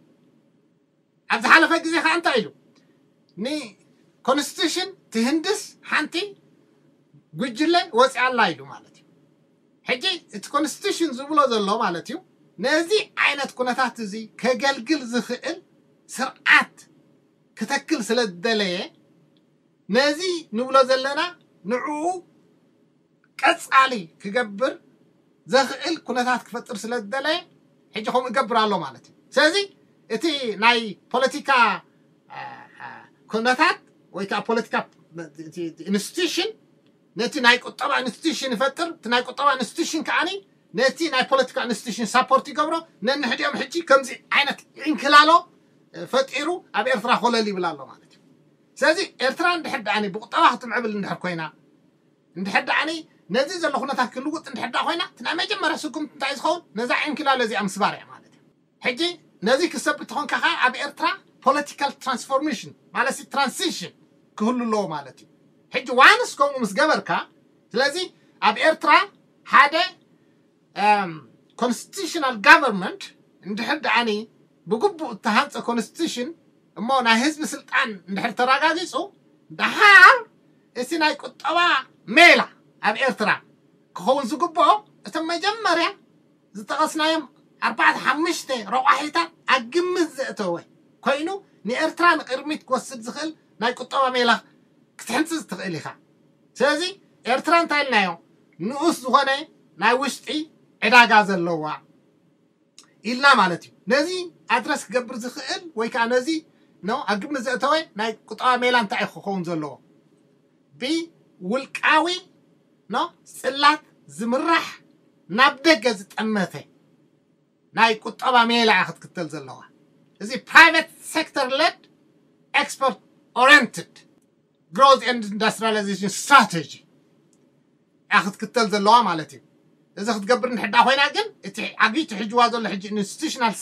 ኣብ ዝሓለፈ ግዜ ከዓ እንታይ ኢሉ ን constitution ትህንድስ ሓንቲ ጉጅለ ወፂኣ ኣላ ኢሉ ማለት እዩ። ሕጂ እቲ constitution ዝብሎ ዘሎ ማለት እዩ ነዚ ዓይነት ኩነታት እዚ ከገልግል ዝኽእል ስርዓት ክተክል ስለ ዝደለየ ነዚ ንብሎ ዘለና ንዕኡ ቀፃሊ ክገብር ዘኽእል ኩነታት ክፈጥር ስለ ዝደለየ ሕጂ ከምኡ ይገብር ኣሎ ማለት እዩ። ስለዚ እቲ ናይ ፖለቲካ ኩነታት ወይ ከዓ ፖለቲካ institution ነቲ ናይ ቁጠባ institution ይፈጥር። እቲ ናይ ቁጠባ institution ከዓኒ ነቲ ናይ ፖለቲካ institution support ይገብሮ። ነንሕዲኦም ሕጂ ከምዚ ዓይነት ዕንክላሎ ፈጢሩ ኣብ ኤርትራ ኮለል ይብል ኣሎ ማለት እዩ። ስለዚ ኤርትራ እንድሕር ደኣኒ ብቁጠባ ክትምዕብል እንድሕር ኮይና እንድሕር ደኣኒ ነዚ ዘሎ ኩነታት ክልውጥ እንድሕር ደኣ ኮይና እቲ ናይ መጀመርያ ስጉምቲ እንታይ ዝኸውን ነዛ ዕንክላሎ እዚኣ ምስባር እያ ማለት እዩ። ሕጂ ነዚ ክሰብ እንተኾንካ ከዓ ኣብ ኤርትራ political transformation ማለት transition ክህሉ ኣለዎ ማለት እዩ። ሕጂ once ከምኡ ምስ ገበርካ ስለዚ ኣብ ኤርትራ ሓደ constitutional government እንድሕር ደኣኒ ብግቡእ እተሃንፀ constitution እሞ ናይ ህዝቢ ስልጣን እንድሕር ተረጋጊፁ ደሓር እቲ ናይ ቁጠባ ሜላ ኣብ ኤርትራ ክኸውን ዝግብኦ እቶም መጀመርያ ዝጠቐስናዮም ኣርባዕተ ሓሙሽተ ረቋሒታት ኣብ ግምት ዘእተወ ኮይኑ ንኤርትራ ንቅድሚት ክወስድ ዝኽእል ናይ ቁጠባ ሜላ ክትሕንፅፅ ትኽእል ኢኻ። ስለዚ ኤርትራ እንታይ ኢልናዮ ንኡስ ዝኾነ ናይ ውሽጢ ዕዳጋ ዘለዋ ኢልና ማለት እዩ። ነዚ ኣድረስ ክገብር ዝኽእል ወይ ከዓ ነዚ ኖ ኣብ ግምት ዘእተወ ናይ ቁጠባ ሜላ እንታይ እዩ ክኸውን ዘለዎ? ብውልቃዊ ኖ ፅላት ዝምራሕ ናብ ደገ ዝጠመተ ናይ ቁጠባ ሜላ እያ ክትክተል ዘለዋ። እዚ private sector led export oriented growth and industrialization strategy ክትክተል ዘለዋ ማለት እዩ። እዚ ክትገብር እንድሕዳ ኮይና ግን እቲ ዓብይቲ ሕጅዋ ዘሎ ሕጂ institutional